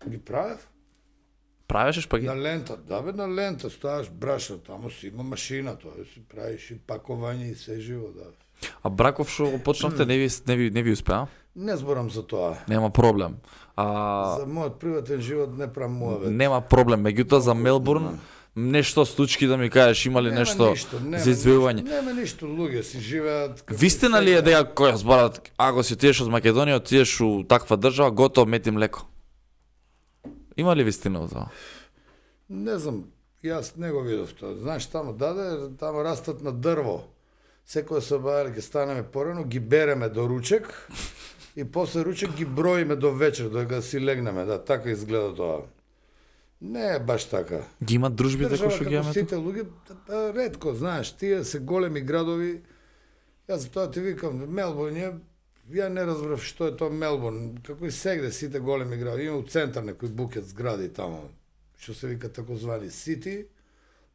Ги правев. Правеше шпагети? На лента, да бе, на лента, ставаш брашна, таму си има машина, тоа си правиш и пакување и се живо, да. А браков шо го почнавте, не ви успеа? Не зборам за тоа. Нема проблем. За мојот приватен живот не правам муавет. Нема проблем, меѓутоа за Мелбурн нешто случки да ми кажеш, има ли нешто за извојување? Нема ништо, луѓе си живеат. Вистина ли е дека која зборат, ако си отидеш од Македонија, отидеш у таква држава, готово мет и млеко? Има ли вистина во тоа? Не знам, јас не го видов тоа. Знаеш, тамо тамо растат на дрво. Секој се обаја ќе станеме порано, ги береме до ручек и после ручек ги броиме до вечер, додека си легнеме. Да, така изгледа тоа. Не е баш така. Ги имат дружбите кои што ги имаме? Сите луѓе ретко, знаеш, тие се големи градови. Јас за тоа ти викам, Мелбурн е, ја не разбрав што е тоа Мелбурн, како и сегде сите големи градови. Има у центар некои букет згради тамо, што се вика такозвани сити.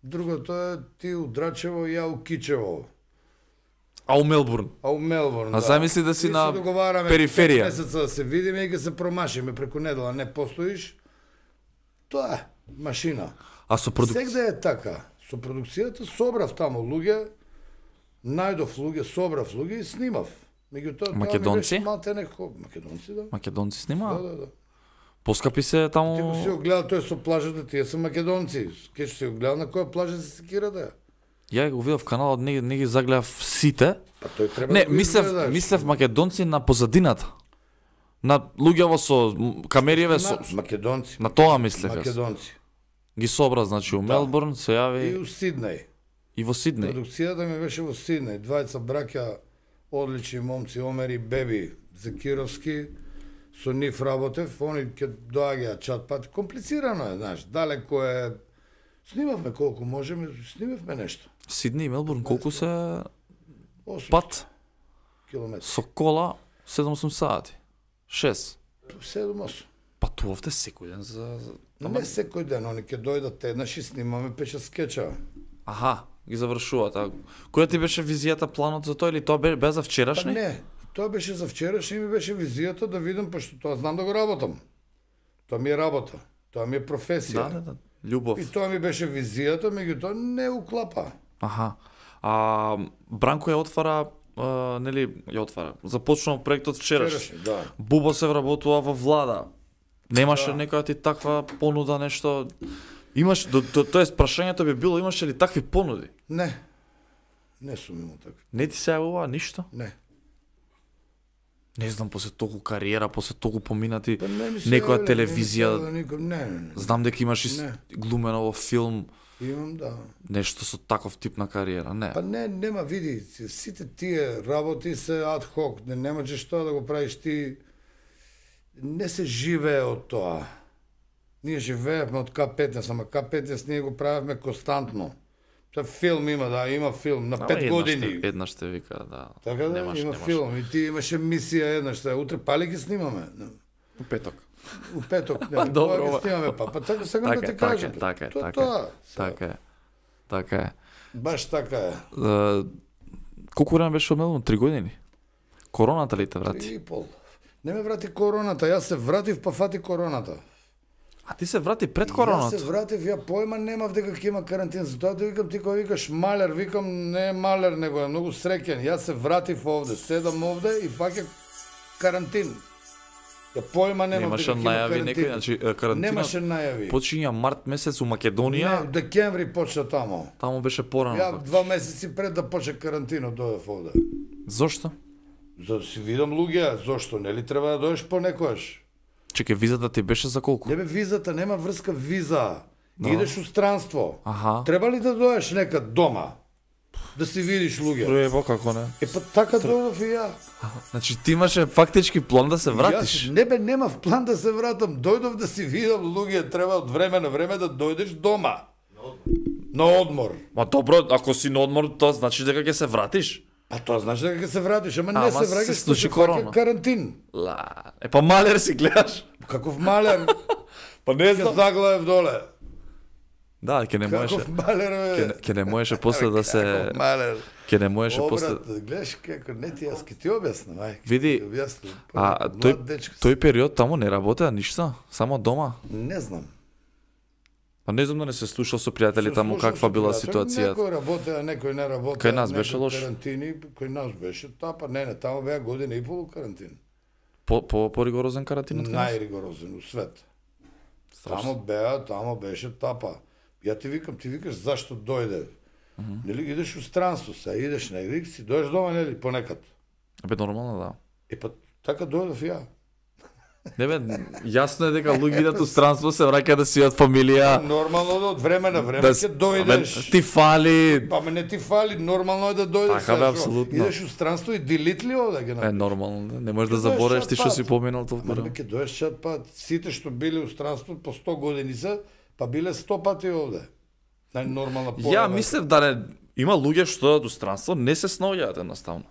Другото е ти у Драчево и ја у Кичево. А у Мелбурн? А у Мелбурн, А замисли да си на периферија. Месеца да се видиме и ќе се промашиме преку недела, не постоиш. Тоа е машина. А со продукција? Сегде е така. Со продукцијата собрав таму луѓе, најдов луѓе, собрав луѓе и снимав. Меѓутоа Македонци? Малте некако македонци, да. Македонци снимаа? Да. Поскапи се таму. Ти го си го гледа тој со плажата, тие се македонци. Ке што си го гледа на која плажа се секирате? Ја го видов каналот, не ги загледав сите. Па тој треба Не, да го изгледаш. мислев македонци на позадината. На луѓево со камериеве со Македонци. на тоа мислев јас. Македонци. Ги собра, значи у Мелбурн се И јави у Сиднеј. и во Сиднеј. Продукцијата ми беше во Сиднеј. Двајца браќа, одлични момци, Омер и Беби Закировски. Со нив работев, они ќе доаѓаат чат пат. Комплицирано е, знаеш, далеко е. Снимавме колку можеме, снимавме нешто. Сиднеј и Мелбурн колку се 8 пат километри. со кола 7-8 сати. 6. 7-8. Патувавте секој ден за Не секој ден, они ќе дојдат еднаш и снимаме 5 скеча. Аха, ги завршуваат. А која ти беше визијата, планот за тоа или тоа бе за Па вчерашни? не, тоа беше за вчерашни и ми беше визијата да видам, пошто тоа знам да го работам. Тоа ми е работа, тоа ми е професија. Да. Љубов. И тоа ми беше визијата, меѓутоа не уклапа. Аха. А Бранко ја отвара, нели, ја отвара. Започнал проектот вчераш. Да. Бубо се вработува во влада. Немаше некоја ти таква понуда, нешто? Имаш, тоест прашањето би било, имаше ли такви понуди? Не. Не сум имал така. Не ти се јавува ништо? Не. Не знам, после толку кариера, после толку поминати, Па не ми се некоја јавиле, телевизија, не ми се јавиле ником. Не. знам дека имаш и Не. глумено во филм, Имам, да. нешто со таков тип на кариера, не. Па не, нема, види, сите тие работи се ад хок, не можеш тоа да го правиш ти, не се живее од тоа. Ние живеевме од К-15, ама К-15 ние го правевме константно. Тоа филм има, да, има филм на 5 години. Еднаш ще вика, да. Така да, има филм и ти имаше мисија еднаш, утре пали ги снимаме. У петок. У петок, Па, не, добро, кога ги снимаме, па така сакам да ти кажам. Така е. Така е. Баш така е. Колку време беше одмелено? 3 години? Короната ли те врати? 3,5. Не ме врати короната, јас се вратив па фати короната. А ти се врати пред короната? Јас се вратив, ја појма немав дека ќе има карантин, затоа да викам ти кога викаш малер, викам не е малер, него е многу среќен. Јас се вратив овде, седам овде и фаќа карантин. Ја појма немав Немаше дека ќе има најави карантин. некој, значи карантинот Немаше најави. почиња март месец у Македонија, Не, декември почна тамо. таму беше порано. Ја 2 месеци пред да почне карантинот дојдев овде. Зошто? За да си видам луѓе, зошто нели треба да дојдеш понекогаш? Чекај, визата ти беше за колку? Не бе, визата нема врска виза. Идеш у странство. Аха. Треба ли да дојдеш некад дома? Да си видиш луѓе? Проево како не? Па така дојдов и ја. Значи ти имаше фактички план да се вратиш? Јас не бе, немав план да се вратам. Дојдов да си видам луѓе, треба од време на време да дојдеш дома. На одмор. Ма добро, ако си на одмор, тоа значи дека ќе се вратиш? Па тоа значи дека ќе се вратиш, ама не Ама се се враќаш, случи се корона. фаќа карантин. Па малер си гледаш. Каков малер, Па не ќе заглавев доле. Да, ќе не можеше. Каков малер, бе. Ќе не можеше после да се Каков малер. ќе не можеше после. Обрат, гледаш како не ти јас ке ти објаснам, ај. Види, ти објаснам. А Млад тој дечко си. тој период таму не работеа ништо, само дома. Не знам. Па не знам да не се слушал со пријатели Се таму слушам каква со била пријатели, ситуацијата. Некој работеа, некој не работеа. Кај нас беше некој лош? Карантини, кај нас беше тапа, не, таму беа година и пол карантин. По ригорозен карантин од кај нас? Најригорозен у свет. Страшно. Тамо беше тапа. Ја ти викаш зашто дојде. Нели идеш у странство, се идеш негде, си дојдеш дома нели понекад. Бе нормално да. Па така дојдов ја. Не бе, јасно е дека луѓе идат у странство, се враќаат да си од фамилија. Нормално да од време на време Да, ќе дојдеш. ти фали. Па не ти фали, нормално е да дојдеш. Така бе, што? апсолутно. Идеш у странство и делит ли овде ги направиш? Нормално, не можеш да Ќе дојдеш заборавиш чат ти што пат. си поминал толку Ма време. ќе дојдеш чат пат. Сите што биле у странство по 100 години се, па биле 100 пати овде. Нормална Ја порада. мислев да не има луѓе што од странство не се снаоѓаат едноставно.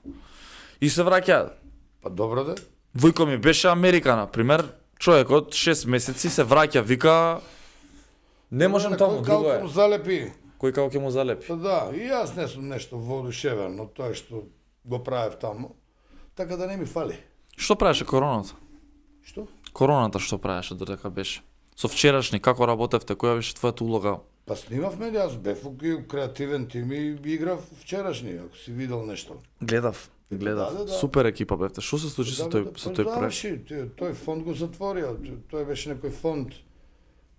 И се враќаат. Па добро да. Војко ми беше Америка, на пример, човекот 6 месеци се враќа, вика не можам таму, друго Кој е. му залепи. Кој како ќе му залепи. Па да, и јас не сум нешто воодушевен од тоа што го правев таму. Така да не ми фали. Што правеше короната? Што? Короната што правеше додека беше? Со вчерашни како работевте, која беше твојата улога? Па снимавме, јас бев у креативен тим и играв вчерашни, ако си видел нешто. Гледав. Да. Супер екипа бевте. Што се случи со тој проект? Тој фонд го затворија. Тој беше некој фонд,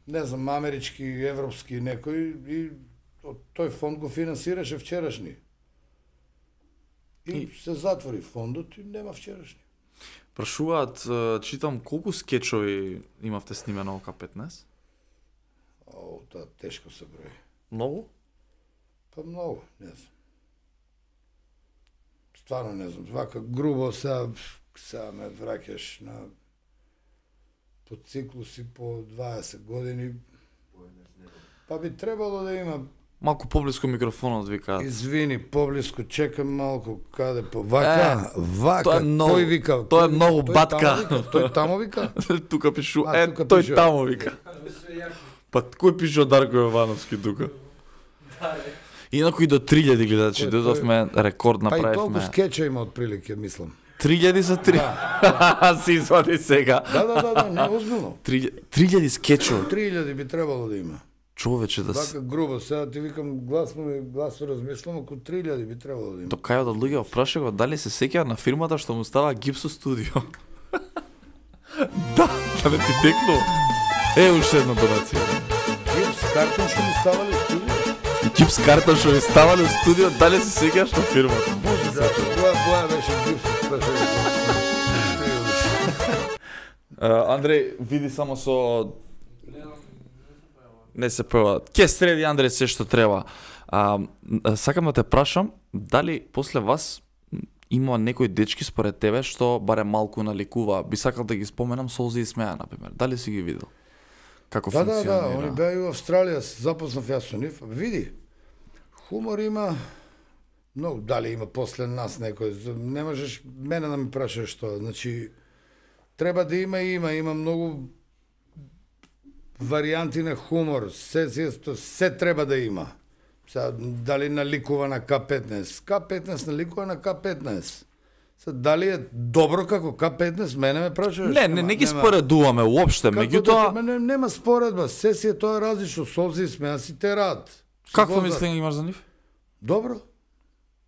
не знам, амерички, европски некој и тој фонд го финансираше вчерашни. И се затвори фондот и нема вчерашни. Прашуваат, читам колку скечови имавте снимено во К15? О, тоа тешко се брои. Многу? Па многу, не знам. Стварно не знам, вака грубо сега ме враќаш на по циклуси по 20 години. Па би требало да има. Малку поблиску микрофонот викаат. Извини, поблиску, чекам малку каде по вака, тоа е многу- тој вика. тоа е многу тој батка. таму вика, Тој таму вика. Тука пишу, тука тој пишу. таму вика. Па кој пише од Дарко Јовановски тука? Инаку и до 3000 гледачи, Тој- додовме рекорд Па и толку направивме. скеча има отприлике, мислам. 3000 за 3. Си извади сега. Да, не, озбилно. 3000 скечови. 3000 би требало да има. Човече да се... Вака грубо, сега ти викам гласно размислам, ако 3000 би требало да има. До кај од луѓе опрашаа го дали се сеќа на фирмата што му става гипсо студио. Да не ти текну. Уште една донација. Гипс, картон што ми ставали у студио? Гипс карта што ви ставале у студио, дали се сеќаш на фирмата? Да, боја беше гипс, прашај. Андреј, види само со... Не се пева. Ке среди Андреј се што треба. Сакам да те прашам, дали после вас има некои дечки според тебе што барем малку наликува? Би сакал да ги споменам Солзи и Смеја, например. Дали си ги видел? Како Да, функционира? они беа и у Австралија, запознав јас со нив. Види, хумор има, но дали има после нас некој, не можеш мене да ми прашаш што, значи, треба да има многу варијанти на хумор, се треба да има. Сега, дали наликува на К15? К15 наликува на К15. Сега, дали е добро како К15? Мене ме прашуваш. Не ги споредуваме уопште, меѓутоа... Нема споредба, се си е тоа различно, Солзи и Смеја си терат. Какво мислење имаш за нив? Добро.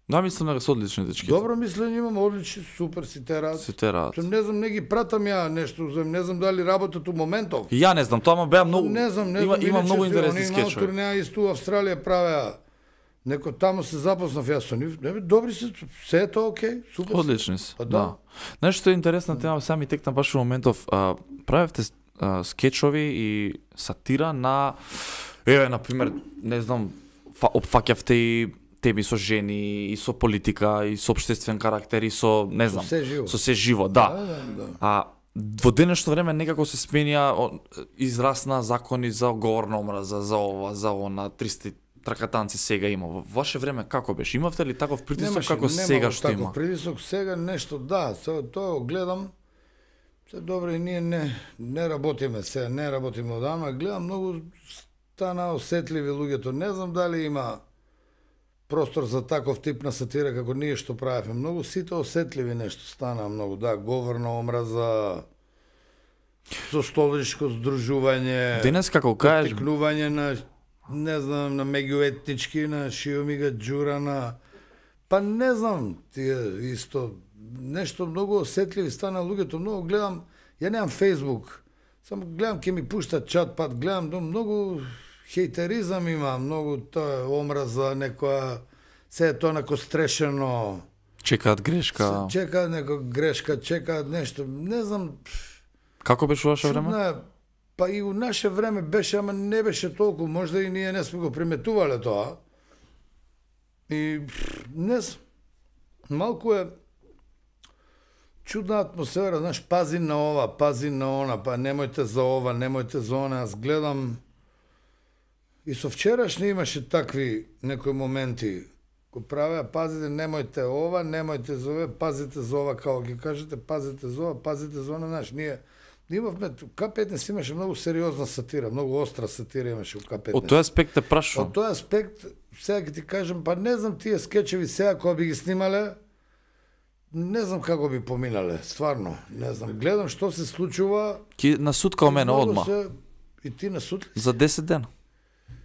Да, мислам дека се одлични дечки. Добро мислење имам, одлични, супер си терат. Се терат. Не знам, не ги пратам ја нешто, не знам дали работат у моментов. И ја не знам, тоа беа многу... Не знам, Има многу интересни скечови. скечови. Турнеја исто у Австралија правеа. Некој таму се запознав јас со нив. Добри се, се е тоа окей, супер. Одлични се. Па Да. да. Знаеш што е интересна тема, сами текна баш во моментов, правевте скечови и сатира на на пример, не знам, опфаќавте и теми со жени, и со политика, и со општествен карактер, и со, не знам, се живо. со се живо, да. Да. Во денешно време некако се сменија израсна закони за говорна омраза, за ова, за она, 300 тракатанци сега има. Во ваше време како беше? Имавте ли таков притисок како сега што има? Таков притисок сега нешто, да, тоа го гледам. Се добро и ние не работиме сега, не работиме одамна, гледам многу стана осетливи луѓето. Не знам дали има простор за таков тип на сатира како ние што правевме. Многу сите осетливи нешто стана многу, да, говорна омраза, состоличко здружување, Денес како кажеш, потикнување на, не знам, на меѓуетнички, на Шиомига Ѓура, на... Па не знам, тие исто, нешто многу осетливи стана луѓето, многу гледам, ја немам Facebook, само гледам ке ми пуштат чат пат, гледам, многу хејтеризам има, многу тоа омраза, некоја, се е тоа неко стрешено, чекаат грешка. чекаат некоја грешка, чекаат нешто, не знам, Како беше ваше време? Чудна, па и у наше време беше, ама не беше толку, можда и ние не сме го приметувале тоа. И не знам, малку е чудна атмосфера, знаеш, пази на ова, пази на она, па немојте за ова, немојте за она. Аз гледам и со вчерашни имаше такви некои моменти кои правеа, пазите, немојте ова, немојте за ова, пазите за ова, како ги кажете, пазите за ова, пазите за она, знаеш, ние имавме, К15 имаше многу сериозна сатира, многу остра сатира имаше у К15. Од тој аспект те прашувам. Од тој аспект, сега ќе ти кажем, па не знам тие скечеви сега кога би ги снимале, не знам како би поминале, стварно, не знам. Гледам што се случува. Ки на суд као мене одма. И ти на суд ли? За 10 дена.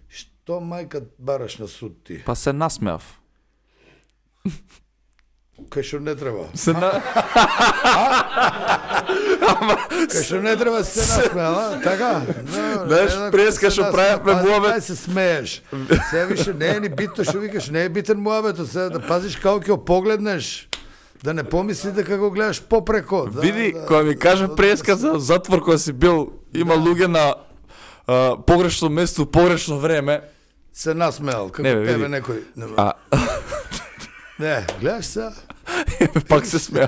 Што мајка бараш на суд ти? Па се насмеав. Кај што не треба. Се на... Кај што не треба се насмеа, а? Така? Знаеш, преска што правевме муабет. Ај се смееш. Се више не е ни битно што викаш, не е битен муабетот, се да пазиш како ќе погледнеш. Да не помисли дека го гледаш попреко. Да, Види, кога ми кажа преска за затвор кога си бил, има луѓе на погрешно место, погрешно време. Се насмеал, како Не, тебе види. некој. Не, гледаш се? Пак се смеа.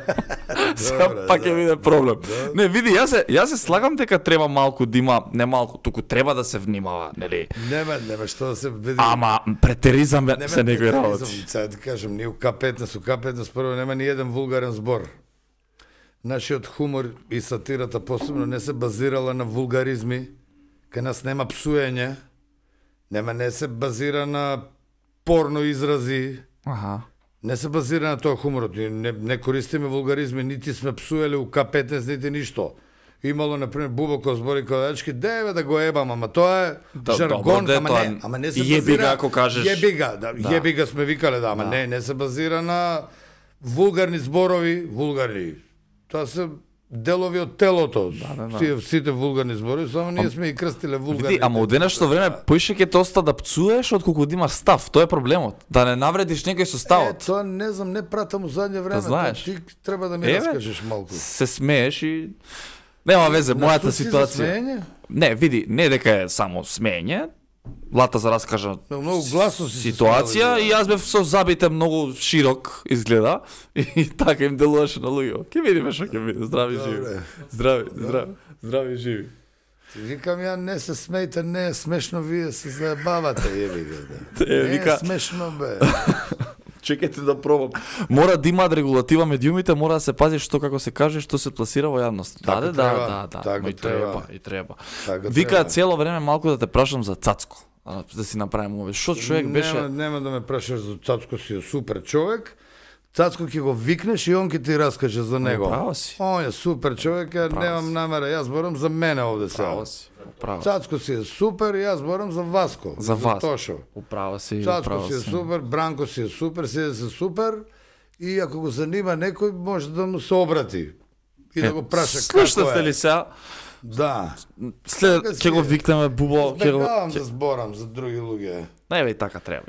Сега пак ќе биде проблем. Не, види, јас се слагам дека треба малку да има, не малку, туку треба да се внимава, нели? Нема што да се види. Ама претеризам се некои работи. Сега да кажем, ние у К15 прво нема ни еден вулгарен збор. Нашиот хумор и сатирата посебно не се базирала на вулгаризми, кај нас нема псуење, не се базира на порно изрази, Аха. не се базира на тоа хуморот. Не користиме вулгаризми, нити сме псуеле у К15, нити ништо. Имало, например, Бубоко збори кога дечки, деве да го ебам, ама тоа е жаргон, ама не се базира... Јебига, ако кажеш... Јебига сме викале, да, ама не се базира на вулгарни зборови, Тоа се делови од телото. Сите вулгарни зборови, само ние сме и крстиле вулгарни. Види, ама од денешно време поише ќе те оста да пцуеш отколку да имаш став. Тоа е проблемот. Да не навредиш некој со ставот. Тоа не знам, не пратам у задње време. Знаеш. Ти треба да ми раскажеш малку. Се смееш и нема везе, мојата ситуација. Не, види, не дека е само смеење. Лата за раскажа многу гласно ситуација и јас бев со забите многу широк изгледа и така им делуваше на луѓе. Ке видиме што ќе биде. Здрави живи. Здрави живи. Викам ја, не се смејте, не е смешно, вие се заебавате, вика. Не е смешно, бе. Чекајте да пробам. Мора да имаат регулатива медиумите, мора да се пази што како се каже, што се пласира во јавност. Да. И треба. Вика цело време малку да те прашам за Цацко. Да си направим овој. Што човек беше? Нема да ме прашаш за Цацко, си е супер човек. Цацко ќе го викнеш и он ќе ти раскаже за него. Право си. Он е супер човек, ја немам намера, јас зборам за мене овде сега. Право си. Цацко си е супер, јас зборам за Васко. За Тошо. Управа си. Цацко си е супер, Бранко си е супер, си е супер и ако го занима некој може да му се обрати и да го праша како е. Слушате ли сега? Да. След ќе го викнеме Бубо, ќе го да зборам за други луѓе. Не, и така треба.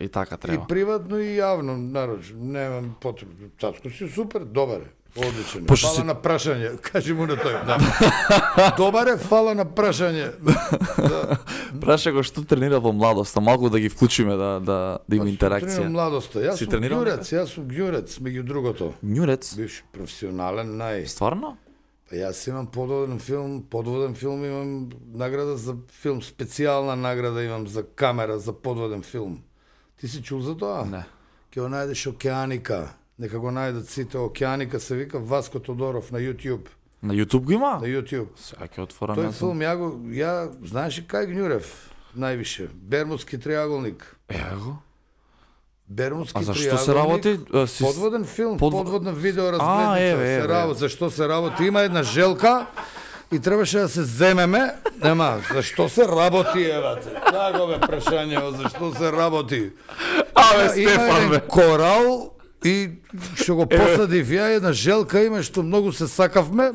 И приватно и јавно, нарочно, немам потреба. Цацко си супер, добар е. Одличен. Фала на прашање. Кажи му на тој. Добар е, фала на прашање. Праша го што тренира во младоста, малку да ги вклучиме да има интеракција. Тренирам младоста. Јас сум гјурец, меѓу другото. Гјурец? Бивш професионален, Стварно? Па јас имам подводен филм имам награда за филм, специјална награда имам за камера за подводен филм. Ти си чул за тоа? Не. Ќе го најдеш Океаника. Нека го најдат сите. Океаника се вика Васко Тодоров на YouTube. На YouTube го има? На YouTube. Сега ќе отворам. Тој филм ја знаеш ли кај Гњурев највише? Бермудски триаголник. Его. Бермудски триаголник. А зашто се работи? Подводен филм, подводна видеоразгледница. Се работи. Зашто се работи? Има една желка и требаше да се земеме. Нема, зашто се работи, евате? Тако бе прашање, зашто се работи? Стефан, бе. Корал и што го посадив ја, една желка има што многу се сакавме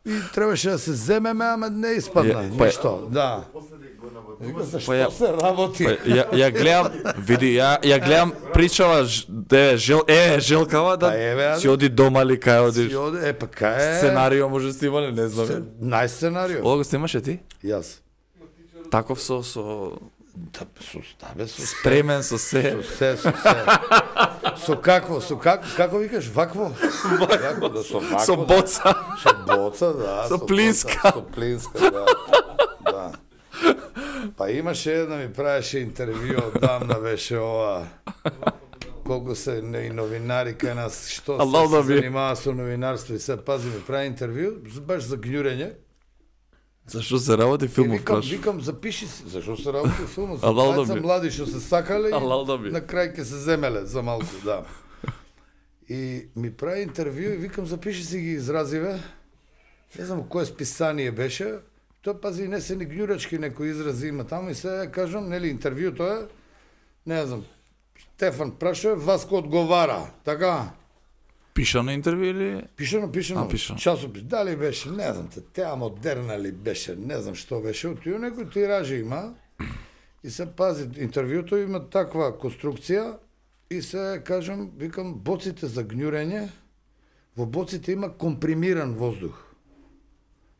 И требаше да се земеме, ама не испадна ништо. Да. Вика, за што се работи? Ја гледам, види, ја гледам причава Желкава да си оди дома ли кај одиш. Си оди, па кај Сценарио може снимале, не знам. Нај сценарио. Ова го снимаше ти? Јас. Таков со стремен со се. Со како викаш, вакво? Со боца. Со боца, да. Со плинска. Со плинска, да. Па имаше една, ми правеше интервју, одамна беше ова. Колку се и новинари кај нас, што се занимава со новинарство и се пази, ми прави интервју, баш за гњурење. Зашто се работи филмов праш? Викам, запиши си, зашто се работи филмов? Двајца млади што се сакале и на крај ќе се земеле за малку, да. И ми прави интервју и викам, запиши си ги изразиве. Не знам кое списание беше. Тоа пази не се ни гњурачки некои изрази има таму и се кажам, нели интервјуто е, не знам, Стефан прашува, Васко одговара, така? Пишано интервју или? Пишано, часопис, дали беше, не знам, теа модерна ли беше, не знам што беше, отио некој тиражи има и се пази, интервјуто има таква конструкција и се кажам, викам, боците за гњурење, во боците има компримиран воздух.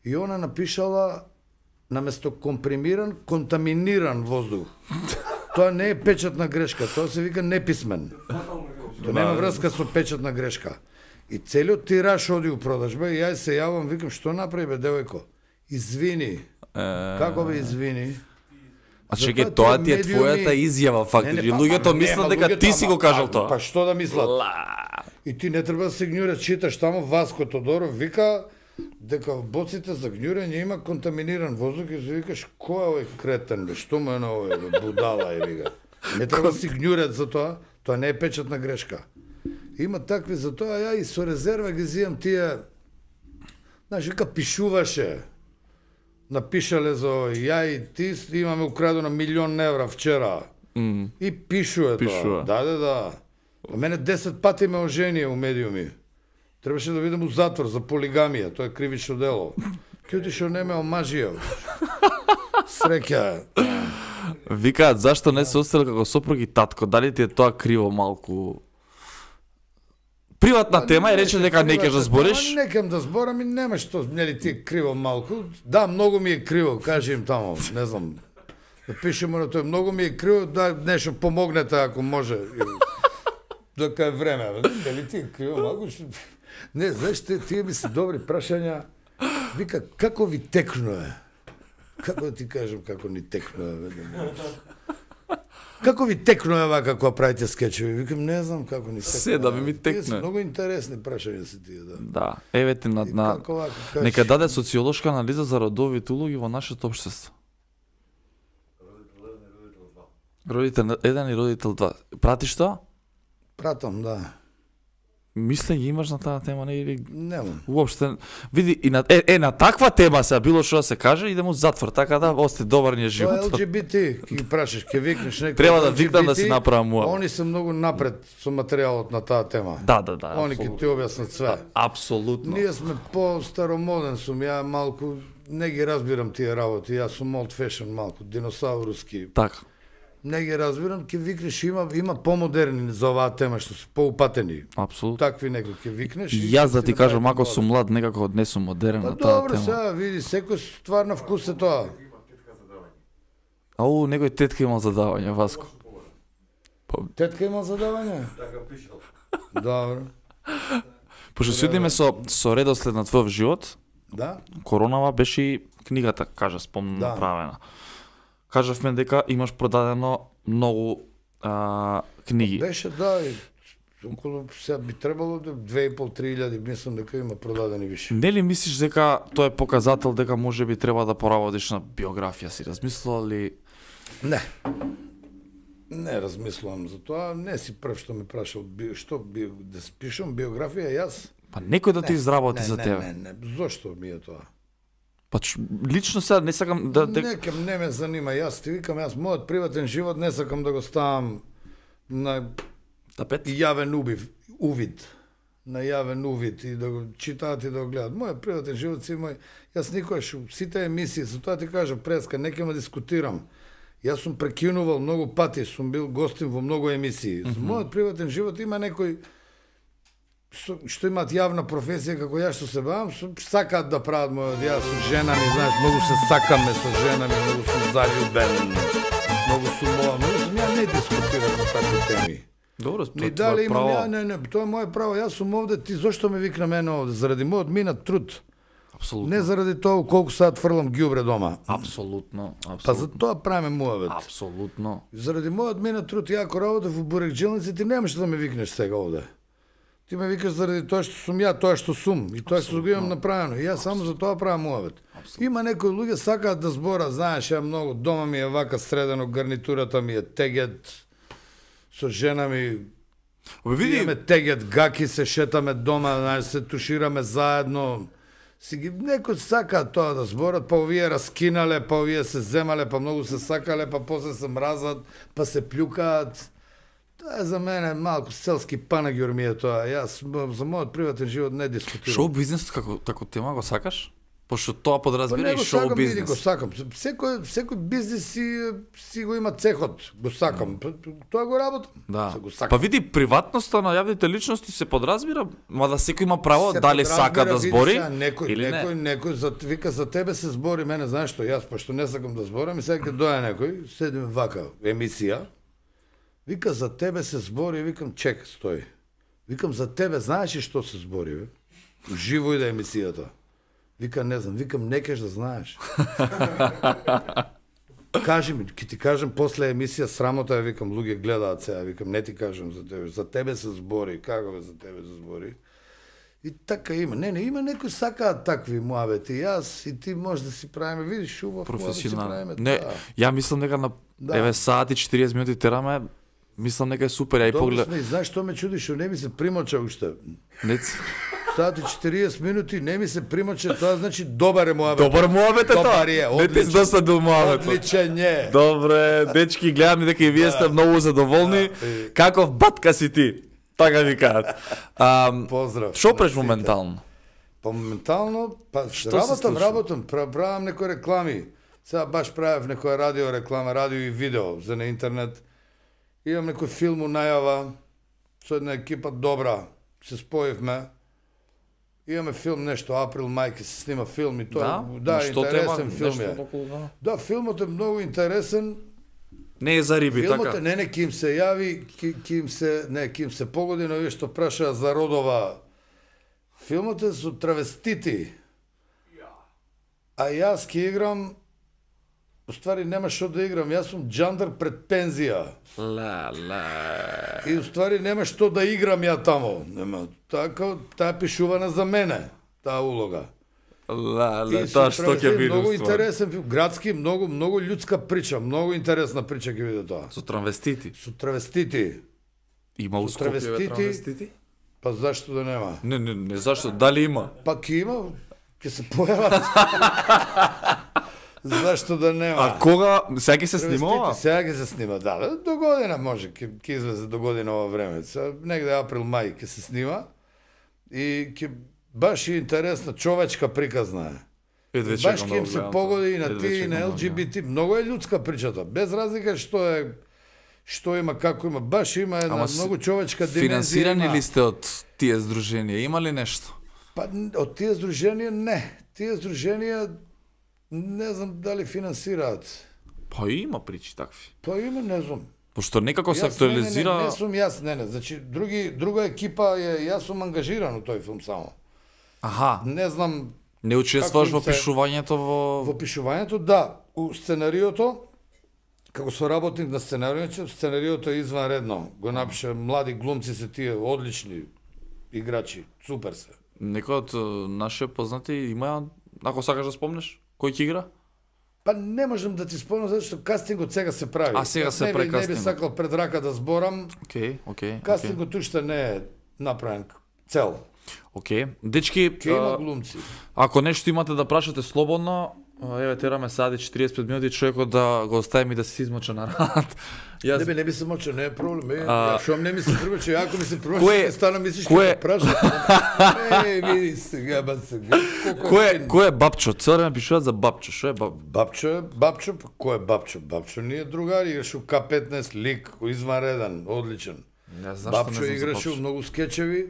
И она напишала наместо компримиран, контаминиран воздух. Тоа не е печатна грешка, тоа се вика неписмен. Тоа нема врска со печатна грешка. И целиот тираж оди у продажба и јас се јавам, викам, што направи бе, девојко? Извини. Како бе извини? А чекај, тоа ти е твојата изјава, фактички. Луѓето мислат дека ти си го кажал тоа. Па што да мислат? И ти не треба да се гњураш, читаш тамо Васко Тодоров, вика дека в боците за гњурење има контаминиран воздух и викаш, кој е овој кретен, бе, што му е на овој, бе, будала е, вика. Не треба да си гњурет за тоа не е печатна грешка. Има такви за тоа, ја и со резерва ги зијам тие, знаеш, вика, пишуваше, напишале за овој, ја и ти имаме украдено 1.000.000 евра вчера. И пишуе тоа. Да. А мене 10 пати ме оженија у медиуми. Требаше да видам у затвор за полигамија, тоа е кривично дело. Кјути што не ме омажија. Среќа. Викаат, зашто не се остел како сопруг и татко? Дали ти е тоа криво малку? Приватна тема и рече дека не ќе да збориш? Не кем да зборам и нема што, нели ти е криво малку. Да, многу ми е криво, кажи им тамо, не знам. Да пишемо на тоа, многу ми е криво, да нешто помогнете ако може. Дока е време, нели ти е криво малку? Не, знаеш, тие ми се добри прашања. Вика, како ви текнуе? Како да ти кажам како ни текнуе? Како ви текнуе вака кога правите скечеви? Викам, не знам како ни текнуе. Се да ми текнуе. Тие се многу интересни прашања се тие, да. Да, еве ти нека даде социолошка анализа за родовите улоги во нашето општество. Родител 1 и родител 2. Пратиш тоа? Пратам, да. Мислење имаш на таа тема, не или? Немам. Уопште, види, и на таква тема се, било што да се каже, идемо у затвор, така да ости добар ни е живот. Тоа LGBT, ќе ги прашаш, ќе викнеш некој. Треба да викнам да си направам муа. Они се многу напред со материјалот на таа тема. Да. Они ќе ти објаснат све. Апсолутно. Ние сме по-старомоден сум, ја малку не ги разбирам тие работи, јас сум old fashion малку, диносауруски. Така. Не ги разбирам, ќе викнеш, има помодерни за оваа тема што се поупатени. Апсолутно. Такви некои ќе викнеш. И јас да ти кажам, ако сум млад, некако не сум модерен на таа тема. Добро, сега види, секој ствар на вкус е тоа. Ау, некој тетка имал задавање, Васко. Тетка имал задавање? Така пишал. Добро. Пошто се одиме со редослед на твојот живот. Да. Коронава беше и книгата, кажа, спомнам направена. Кажавме дека имаш продадено многу книги. Беше, да, и околу сега би требало 2.500-3.000, мислам дека има продадени више. Нели мислиш дека тоа е показател дека можеби треба да поработиш на биографија, си размислувал ли? Не. Не размислувам за тоа, не си прв што ме прашал што да спишам биографија јас. Па некој да ти изработи за тебе. Не, зошто ми е тоа? Па лично сега не сакам да не ме занима, јас ти викам, мојот приватен живот не сакам да го ставам на тапет, јавен увид. на јавен увид и да го читаат и да го гледат. Мојот приватен живот си мој, јас никогаш сите емисии, за тоа ти кажа преска, не ќе ме дискутирам. Јас сум прекинувал многу пати, сум бил гостин во многу емисии. За мојот приватен живот има некои што имаат јавна професија како ја што се бавам, сакаат да прават мојот, јас сум жена ми, знаеш, многу се сакаме со жена ми, многу сум заљубен, многу сум ја не дискутирам на такви теми. Добро, тоа е право. Не, тоа е моје право, јас сум овде, ти зошто ме викна мене овде? Заради мојот минат труд. Апсолутно. Не заради тоа колку саат фрлам ѓубре дома. Апсолутно. Па за тоа правиме муавет. Апсолутно. Заради мојот минат труд, ја ако работев во бурекџелници, ти немаш да ме викнеш сега овде. Ти ме викаш заради тоа што сум ја, тоа што сум и тоа што го имам направено. И јас само за тоа правам муавет. Има некои луѓе сакаат да зборат, знаеш, ја многу дома ми е вака средено, гарнитурата ми е тегет, со жена ми имаме тегет, гаки, се шетаме дома, знаеш, се тушираме заедно. Некои сакаат тоа да зборат, па овие раскинале, па овие се земале, па многу се сакале, па после се мразат, па се плюкаат. Тоа е за мене малку селски панагюр ми е тоа. Јас за мојот приватен живот не дискутирам. Шоу бизнисот како тема го сакаш? Пошто тоа подразбира и шоу бизнис. Го сакам. Секој бизнис си го има цехот. Го сакам. Тоа го работам. Да. Па види, приватноста на јавните личности се подразбира, мада секој има право дали сака да збори или не. Некој вика за тебе се збори, мене знаеш што, јас пошто не сакам да зборам и сега ќе дојде некој, седиме вака емисија. Вика за тебе се збори, викам чек, стој. Викам за тебе знаеш ли што се збори, бе? Живо иде емисијата. Вика не знам, викам не кеш да знаеш. Кажи ми, ќе ти кажам после емисија срамота, викам луѓе гледаат сега, викам не ти кажам за тебе се збори, како бе за тебе се збори. И така има. Не, има некои сакаат такви муавети. Јас и ти може да си правиме, видиш, убав муавет си правиме. Не, ја мислам дека на еве саат и 40 минути тераме, мислам дека е супер, ја и поглед. Добро сме, знаеш што ме чуди, што не ми се примоча уште. Не. Саат и 40 минути не ми се примоча, тоа значи добар е муавет. Добар муавет е тоа. Не ти досадил муавет. Одличен е. Добре, дечки, гледам дека и вие сте многу задоволни. Каков батка си ти? Така ви кажат. Поздрав. Што преш моментално? Па моментално, работам, правам некои реклами. Сега баш правев некоја радио реклама, радио и видео за на интернет. Имам некој филм у најава, со една екипа добра, се споивме. Имаме филм нешто, април-мај ќе се снима филм и тоа, да, интересен филм е. Да, филмот е многу интересен. Не е за риби, филмот така? Не, ќе им се јави, ќе им се погоди на овие што прашаа за родова. Филмот е со травестити. А јас ќе играм, уствари нема што да играм, јас сум џандар пред пензија. И уствари нема што да играм ја тамо. Нема, таа пишувана за мене, таа улога. Тоа што ќе биде многу интересен филм, градски, многу људска прича, многу интересна прича ќе биде тоа. Со травестити. Со травестити. Има у Скопје травестити? Па зашто да нема? Не зашто, дали има? Па ќе има, ќе се појават. Зашто да нема? А кога? Сега ќе се снима? Сега ќе се снима, да. До година може, ќе излезе до година ова време. Негде април-мај ќе се снима. И ќе баш и интересна човечка приказна е. Баш ќе им се погоди и на тие и на ЛГБТ. Многу е људска причата. Без разлика што има, како има. Баш има една многу човечка димензија. Финансирани ли сте од тие здруженија? Има ли нешто? Па од тие здруженија не. Тие здруженија не знам дали финансираат. Па има причи такви. Па има, не знам. Пошто некако се актуализира... Не сум јас, не. Значи, друга екипа е, јас сум ангажиран у тој филм само. Аха. Не знам... Не учествуваш во пишувањето во... Во пишувањето, да. У сценариото, како соработник на сценариото е изванредно. Го напише, млади глумци се тие, одлични играчи, супер се. Некој од наши познати има, ако сакаш да спомнеш, кој ќе игра? Па не можам да ти спомнам, зашто кастингот сега се прави. А сега се прави кастингот. Не би сакал пред рака да зборам. Окей. Кастингот уште не е направен цел. Окей. Дечки, ќе има глумци. Ако нешто имате да прашате слободно, Еве тераме сади 45 минути човекот да го оставим и да се измоча на рад. Јас Не би се моча, не е проблем. Шо не ми се првече, ако ми се Кој- првече, стана мислиш кој- ќе праша. Види сега, ба сега. кој е бабчо? Цело време пишуваат за бабчо. Што е бабчо? Бабчо, па кој е Бабчо? Бабчо ние другари, играше у К15, лик, изванреден, одличен. Не знам што Бабчо не знам за играше у многу скечеви.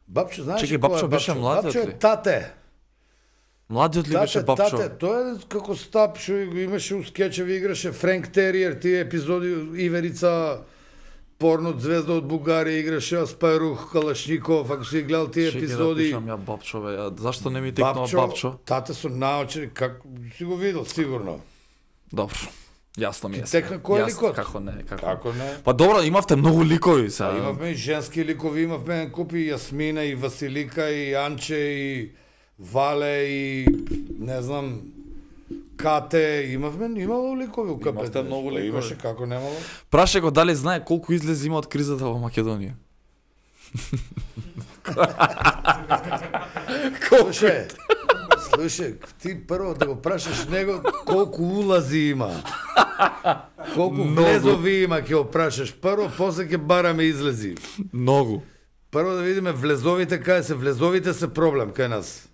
Бабчо, знаеш Чекај, кој Бабчо е беше младиот Бабчо ли? е тате. Младиот ли беше бабчо? Тате, тој е како стап што го имаше у скечеви, играше Френк Териер, тие епизоди Иверица, порно звезда од Бугарија, играше Аспарух, Калашников, ако си гледал тие Чекај да епизоди. пишам ја бабчо, бе. Зашто не ми текнува бабчо? Тате со научени, как си го видел сигурно. Добро. Јасно ми е. Ти текна кој е ликот? Како не, како. Како не? Па добро, имавте многу ликови сега. Имавме и женски ликови, имавме купи Јасмина и Василика и Анче и Вале и не знам Кате, имало ликови у КП. Имавте многу ликови. Имаше, како немало. Праше го дали знае колку излези има од кризата во Македонија. Слушај, ти прво да го прашаш него колку улази има. Колку влезови има ќе го прашаш. Прво, после ќе бараме излези. Многу. Прво да видиме влезовите, кај се влезовите се проблем кај нас.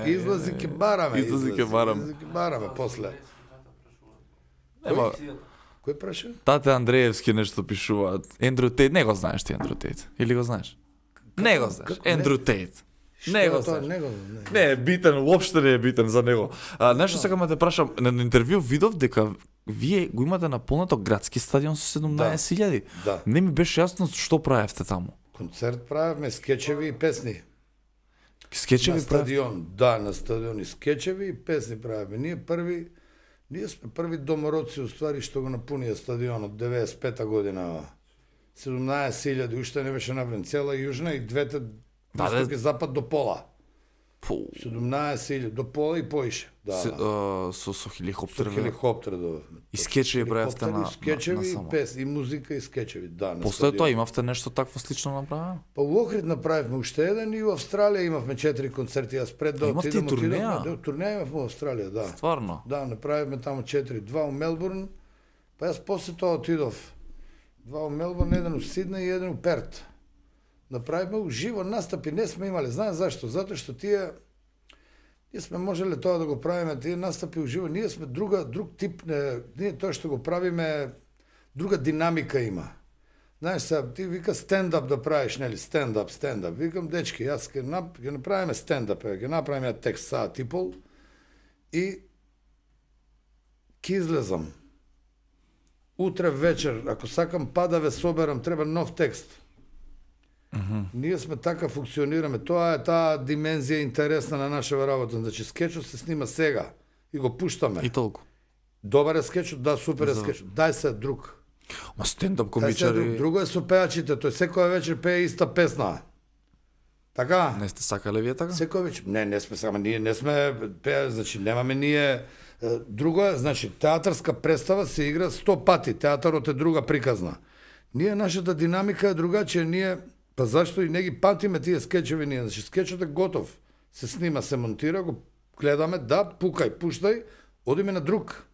Излази ќе бараме. Излази ќе бараме. Излази ќе бараме после. Ема, Кој праша? тате Андреевски нешто пишуваат. Ендрю Тейт, не го знаеш ти Ендрю Тейт? Или го знаеш? Не го знаеш. како не? Ендрю Тейт. Не го Тоа знаеш. него. Не е битен, уопште не е битен за него. Нешто сакам да те прашам, на интервју видов дека вие го имате наполнато градски стадион со 17.000. Да. Не ми беше јасно што правевте таму. Концерт правевме, скечеви и песни. Скечеви На стадион, да, на стадион и скечеви и песни правевме. Ние сме први домородци, уствари, што го напунија стадионот 95-та година. 17.000, уште не беше направен цела јужна и двете исток и запад до пола. 17.000 до пола и поише. Да, Со хеликоптер. со хеликоптер до. И скечеви правевте на скечеви само. и песни, и музика и скечеви, да. на После стадион. тоа имавте нешто такво слично направено? Па у Охрид направивме уште еден и у Австралија имавме 4 концерти, јас пред да имавте и турнеја? Да, турнеја имавме у Австралија, да. Стварно? Да, направивме таму 4, 2 у Мелбурн, па јас после тоа отидов. 2 у Мелбурн, еден у Сиднеј и еден у Перт. Направивме уживо настапи, не сме имале. Знаеш зашто? Затоа што ние сме можеле тоа да го правиме, тие настапи уживо, ние сме друг тип, ние тоа што го правиме, друга динамика има. Знаеш, сега, ти вика стендап да правиш, нели, стендап. Викам, дечки, јас ќе направиме стендап, ќе направиме текст саат и пол и ќе излезам. Утре вечер, ако сакам па да ве соберам, треба нов текст. Ние сме така функционираме. Тоа е таа димензија интересна на нашава работа. Значи, скечот се снима сега и го пуштаме. И толку. Добар е скечот, да, супер е скечот. Дај се друг. Ма стендап Дај се комичари... друго е со пеачите, тој секоја вечер пее иста песна. Така? Не сте сакале вие така? Секој вечер. Не сме сакаме, ние не сме пеа, значи немаме ние. Друго е, значи, театарска представа се игра 100 пати, театарот е друга приказна. Ние, нашата динамика е другачија, ние, па зашто и не ги патиме тие скечеви ние, значи скечот е готов, се снима, се монтира, го гледаме, да, пукај, пуштај, одиме на друг.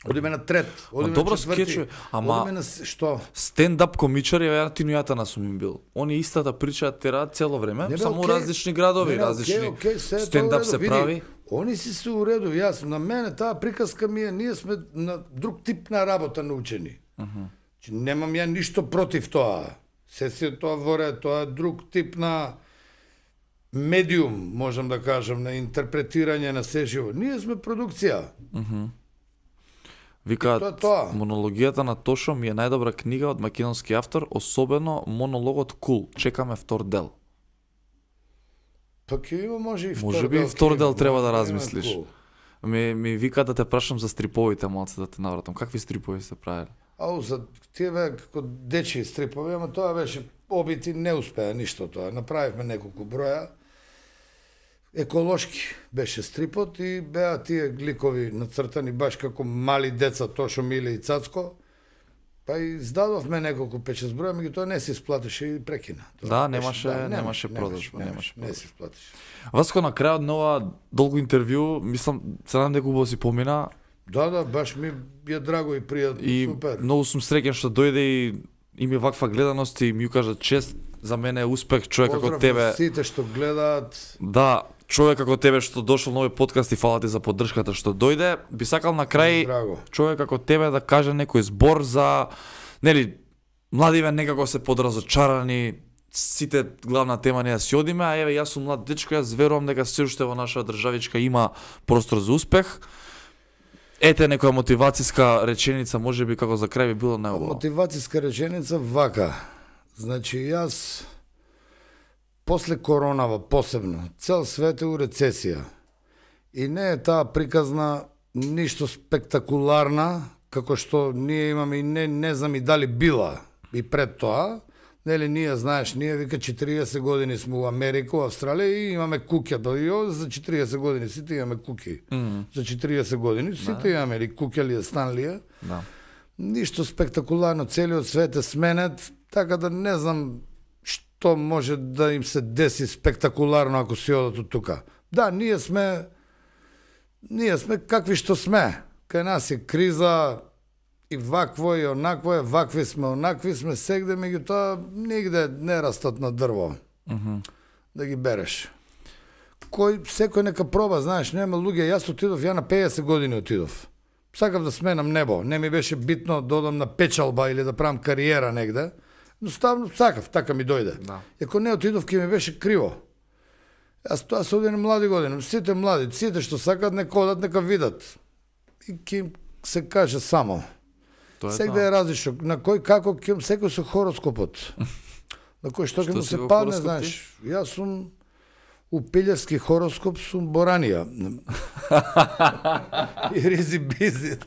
Одиме на трет, одиме добро на четврти, скечови, ама- одиме на што? Стендап комичари, ја Тино Јатана сум им бил. Они истата прича тера цело време, бе, само окей. различни градови, Не, различни окей, се е тоа стендап у редо. се Види, прави. Они си се уредови, јас, на мене таа приказка ми е, ние сме на друг тип на работа научени. Че немам ја ништо против тоа. Се тоа воре, тоа е друг тип на медиум, можам да кажам, на интерпретирање на се живо. Ние сме продукција. Викаат, тоа. монологијата на Тошо ми е најдобра книга од македонски автор, особено монологот Кул. Чекаме втор дел. Па ќе има може и втор Може би дел, и втор ќе дел има, треба да има размислиш. cool. Ми вика да те прашам за стриповите, малце да те навратам. Какви стрипови сте правили? Ау, за тие бе како дечи стрипови, ама тоа беше обити, не успеа ништо тоа. Направивме неколку броја. Еколошки беше стрипот и беа тие гликови нацртани баш како мали деца, Тошо, Миле и Цацко. Па и издадовме неколку 5-6 броја, меѓутоа не се исплатеше и прекина. Да, немаше продажба, не се исплатеше. Васко, на крајот на ова долго интервју, мислам, се надам дека убаво си помина. Да, баш ми е драго и пријатно, супер. И многу сум среќен што дојде и има ваква гледаност и ми кажа чест, за мене е успех човек како тебе. Поздрав сите што гледаат. Да, човек како тебе што дошол на овој подкаст и фала ти за поддршката што дојде. Би сакал на крај човек како тебе да каже некој збор за, нели, младиве некако се подразочарани, сите главна тема не да си одиме, а еве јас сум млад дечко, јас верувам дека се уште во нашата државичка има простор за успех. Ете некоја мотивацијска реченица, можеби како за крај би било најубаво. Мотивацијска реченица вака. Значи јас после коронава посебно, цел свет е у рецесија. И не е таа приказна ништо спектакуларна, како што ние имаме и не знам и дали била и пред тоа. Нели ние, знаеш, ние вика 40 години сме у Америка, у Австралија и имаме куќа. Да и за 40 години сите имаме куќи. За 40 години сите имаме или куќа ли е, стан ли е. Да. Ништо спектакуларно, целиот свет е сменет, така да не знам што може да им се деси спектакуларно ако си одат од тука. Да, ние сме какви што сме. Кај нас е криза, и вакво и онакво е, вакви сме сегде, меѓутоа нигде не растат на дрво. Да ги береш. Секој нека проба, знаеш, нема луѓе, јас отидов, ја на 50 години отидов. Сакав да сменам небо, не ми беше битно да одам на печалба или да правам кариера негде, но ставно сакав, така ми дојде. Да. Ако не отидов, ке ми беше криво. Јас тоа се одине млади години, сите млади, сите што сакат нека одат, нека видат. И ке им се каже само. Сегде е различно. На кој како секој со хороскопот. На кој што ќе му се падне, знаеш. Јас сум у пилјарски хороскоп сум Боранија. И ризи бизи.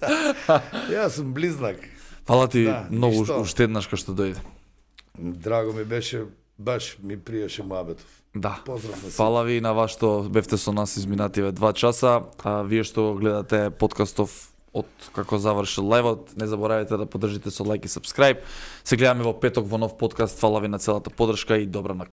Јас сум близнак. Фала ти многу уште еднаш кај што дојде. Драго ми беше, баш ми приеше муабетов. Да. Фала ви на вас што бевте со нас изминативе 2 часа, а вие што гледате подкастов од како завршил лајвот, не заборавајте да поддржите со лајк и сабскрајб. Се гледаме во петок во нов подкаст. Фала ви на целата поддршка и добра ноќ.